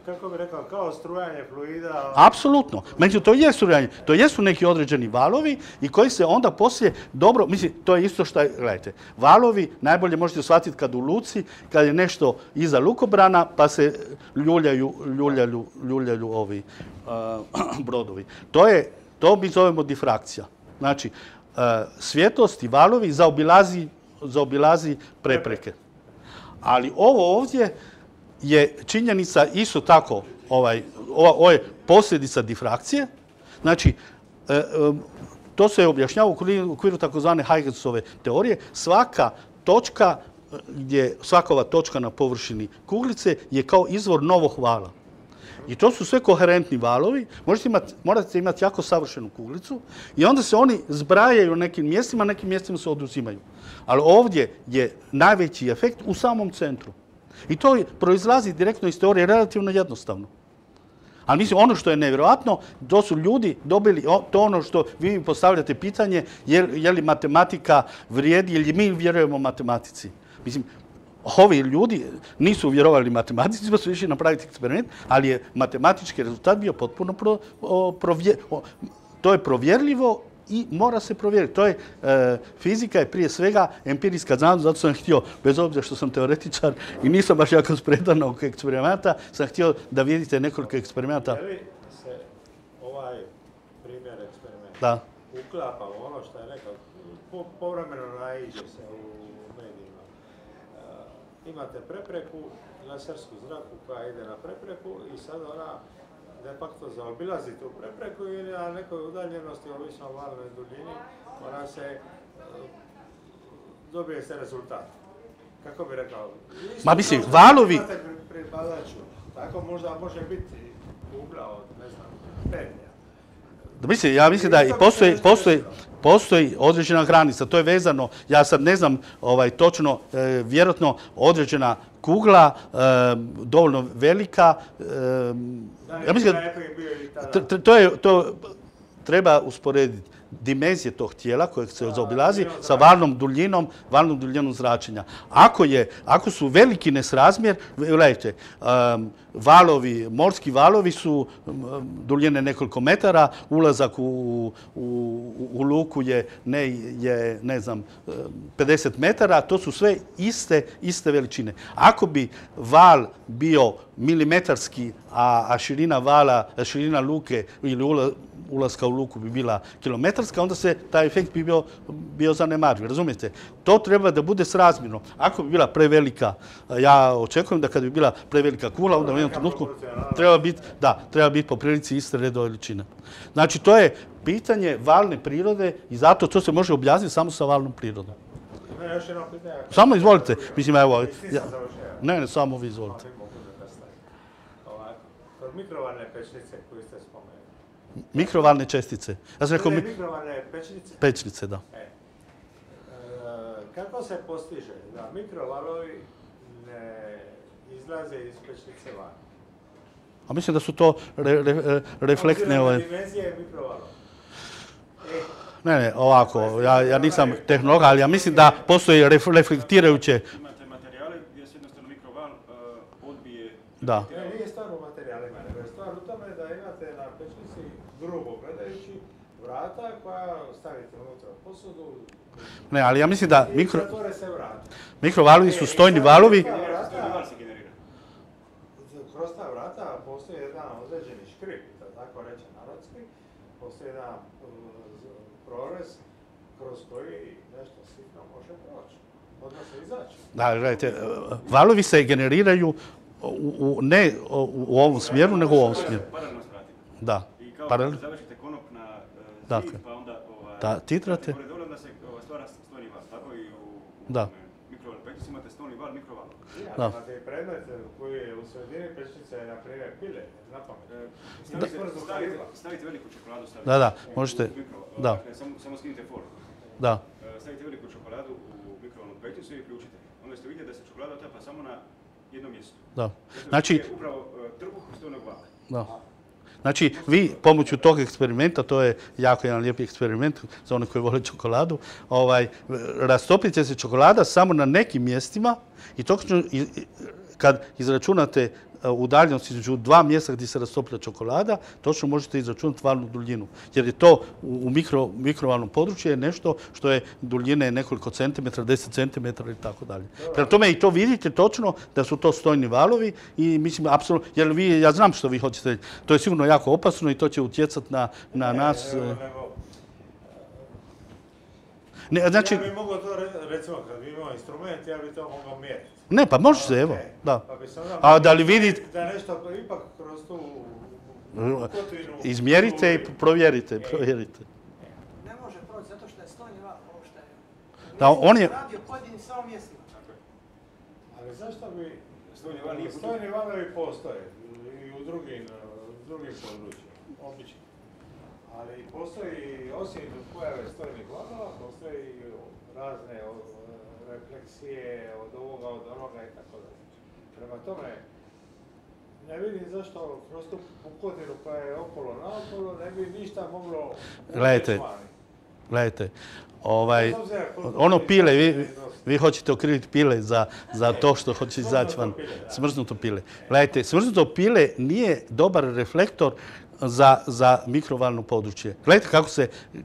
kako bi rekao, kao strujanje fluida. Apsolutno. Međutim, to je strujanje. To jesu neki određeni valovi i koji se onda poslije dobro, mislim, to je isto što je, gledajte, valovi najbolje možete shvatiti kad u luci, kad je nešto iza lukobrana, pa se ljuljaju ovi brodovi. To mi zovemo difrakcija. Znači, svjetlost i valovi zaobilazi prepreke. Ali ovo ovdje je činjenica isto tako, ovo je posljedica difrakcije. Znači, to se objašnjava u okviru takozvane Huygensove teorije. Svaka ova točka na površini kuglice je kao izvor novog vala. I to su sve koherentni valovi. Morate imati jako savršenu kuglicu i onda se oni zbrajaju nekim mjestima se oduzimaju. Ali ovdje je najveći efekt u samom centru. I to proizlazi direktno iz teorije relativno jednostavno. Ali mislim, ono što je nevjerojatno, to su ljudi dobili to ono što vi mi postavljate pitanje, je li matematika vrijedi ili mi vjerujemo matematici. Mislim, ovi ljudi nisu vjerovali matematici, pa su išli napraviti eksperiment, ali je matematički rezultat bio potpuno to je provjerljivo i mora se provjeriti. To je, fizika je prije svega empirijska znanost, zato sam htio, bez obzira što sam teoretičar i nisam baš jako spredan oko eksperimenta, sam htio da vidite nekoliko eksperimenata. Je li se ovaj primjer eksperimenta Da. uklapa u ono što je rekao, povremeno naiđe se u medijima. Imate prepreku, lasersku zraku koja ide na prepreku i sad ona de facto zaobilazi tu prepreku ili na nekoj udaljenosti, ovisno o valnoj duljini, ona se dobije se rezultat. Kako bi rekao? Ma mislim, valovi... Imate pri badaču, tako možda može biti ugla od, ne znam, pedlja. Mislim, ja mislim da i postoji određena granica. To je vezano, ja sad ne znam točno, vjerojatno određena kugla, dovoljno velika. Ja mislim da to treba usporediti dimenzije tog tijela kojeg se zaobilazi sa valnom duljinom zračenja. Ako su veliki nesrazmjer, gledajte, morski valovi su duljine nekoliko metara, ulazak u luku je ne znam, 50 metara, to su sve iste veličine. Ako bi val bio milimetarski, a širina luke ili ulaska u luku bi bila kilometarska, onda se taj efekt bi bio zanemariv. Razumijete? To treba da bude srazmjerno. Ako bi bila prevelika, ja očekujem da kad bi bila prevelika kugla, onda u jednom trenutku treba biti po prilici iste redove veličine. Znači, to je pitanje valne prirode i zato to se može objasniti samo sa valnom prirodom. Još jedno pitanje. Samo izvolite. Mislim, evo... Ne, samo vi izvolite. Kod mikrovalne pečnice koju ste spomenuli. Mikrovalne čestice. Ja sam rekao... Mikrovalne pečnice? Pečnice, da. Kako se postiže da mikrovalovi ne izlaze iz pečnice van? A mislim da su to reflektne... Obzirom na dimenzije mikrovalova. Ne, ovako, ja nisam tehnolog, ali ja mislim da postoji reflektirajuće... Imate materijale gdje se jednostavno mikroval odbije... Da. Nije stvar u materijalima, nego je stvar u tome da imate na pečnici, grubo gledajući, vrata koja stavite unutra posudu. Ne, ali ja mislim da zatvore se vrata. Mikrovalovi su stojni valovi. Kroz ta vrata postoji jedan određeni škrip, da tako reče narodski. Postoji jedan prorez kroz koji nešto sitno može proći, odnosno izaći. Da, gledajte, valovi se generiraju ne u ovom smjeru, nego u ovom smjeru. Paralelno s vratima. Da. I kao da završite konop na zid, pa onda... Da, titrate. Onda se stvara stojni val, tako i u mikrovalnoj pečnici imate stojni val, mikroval. Imate i predmet koji je u sredini pečnice, na primjer, pile, na pamet. Stavite veliku čokoladu, da, možete, da. Samo skinite for. Da. Stavite veliku čokoladu u mikrovalnu pečnicu i uključite. Onda ste vidjeli da se čokolada otapa samo na jednom mjestu. Da. Znači... Upravo trbuh stojnog vala. Da. Znači, vi pomoću tog eksperimenta, to je jako jedan lijepi eksperiment za one koji vole čokoladu, rastopit će se čokolada samo na nekim mjestima i točno kad izračunate udaljenost između dva mjesta gdje se rastopila čokolada, točno možete izračunati valnu duljinu. Jer je to u mikrovalnom području je nešto što je duljine nekoliko centimetra, 10 centimetara i tako dalje. Prema tome i to vidite točno da su to stojni valovi i mislim apsolutno, jer ja znam što vi hoćete reći. To je sigurno jako opasno i to će utjecati na nas. Znači, ja bih mogao to, recimo, kad bi imao instrument, ja bih to mogao mjeriti. Ne, pa može se, evo, da. Pa bi se onda a da li vidite... Da nešto ipak kroz tu kotvinu... Izmjerite i provjerite. Ne može proći zato što je stojni val, ovo što je... Da, on je... Radio pojedini samo mjestima. Ali zašto bi... Stojni valovi postoje i u drugim područjima, obično. Ali postoji, osim pojave stojnih valova, postoji razne refleksije od ovoga, od onoga i tako dalje. Prema tome, ne vidim zašto kroz tu pukotinu koja je okolo naokolo ne bi ništa moglo... Gledajte, ono pile, vi hoćete okriviti pile za to što hoće izaći van. Smrznuto pile. Gledajte, smrznuto pile nije dobar reflektor za mikrovalno područje. Gledajte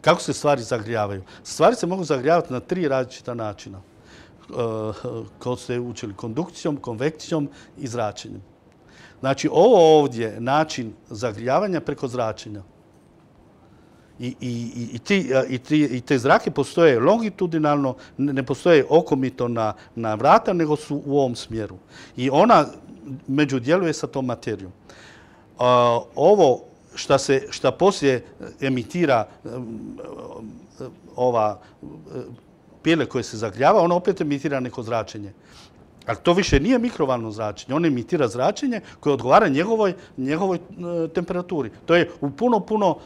kako se stvari zagrijavaju. Stvari se mogu zagrijavati na 3 različita načina. Kao ste učili, kondukcijom, konvekcijom i zračenjem. Znači, ovo ovdje je način zagrijavanja preko zračenja. I te zrake postoje longitudinalno, ne postoje okomito na vrata, nego su u ovom smjeru. I ona međudjeluje sa tom materijom. Ovo šta poslije emitira ova pile koje se zagrijava, ono opet emitira neko zračenje. Ali to više nije mikrovalno zračenje. On emitira zračenje koje odgovara njegovoj temperaturi. To je u puno,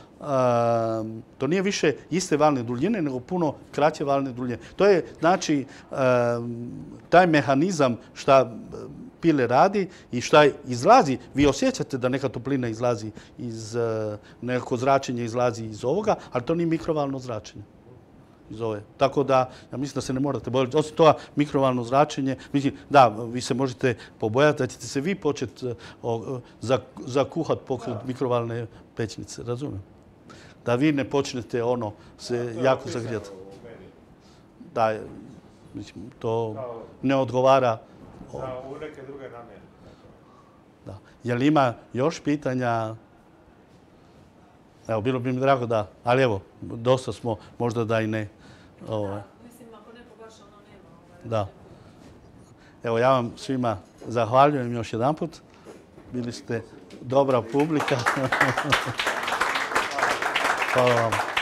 to nije više iste valne duljine, nego puno kraće valne duljine. To je, znači, taj mehanizam šta pile radi i šta izlazi. Vi osjećate da neka toplina izlazi nekako zračenje izlazi iz ovoga, ali to nije mikrovalno zračenje. Tako da, ja mislim da se ne morate bojati. Osim toga, mikrovalno zračenje, mislim, da, vi se možete pobojati da ćete se vi početi zakuhati pokraj mikrovalne pećnice, razumijem? Da vi ne počnete se jako zagrijati. Da, mislim, to ne odgovara. U neke druge namjere. Da. Je li ima još pitanja? Evo, bilo bi mi drago da, ali evo, dosta smo, možda da i ne. Mislim, ako neko baš nema. Da. Evo, ja vam svima zahvaljujem još jedanput. Bili ste dobra publika. Hvala vam.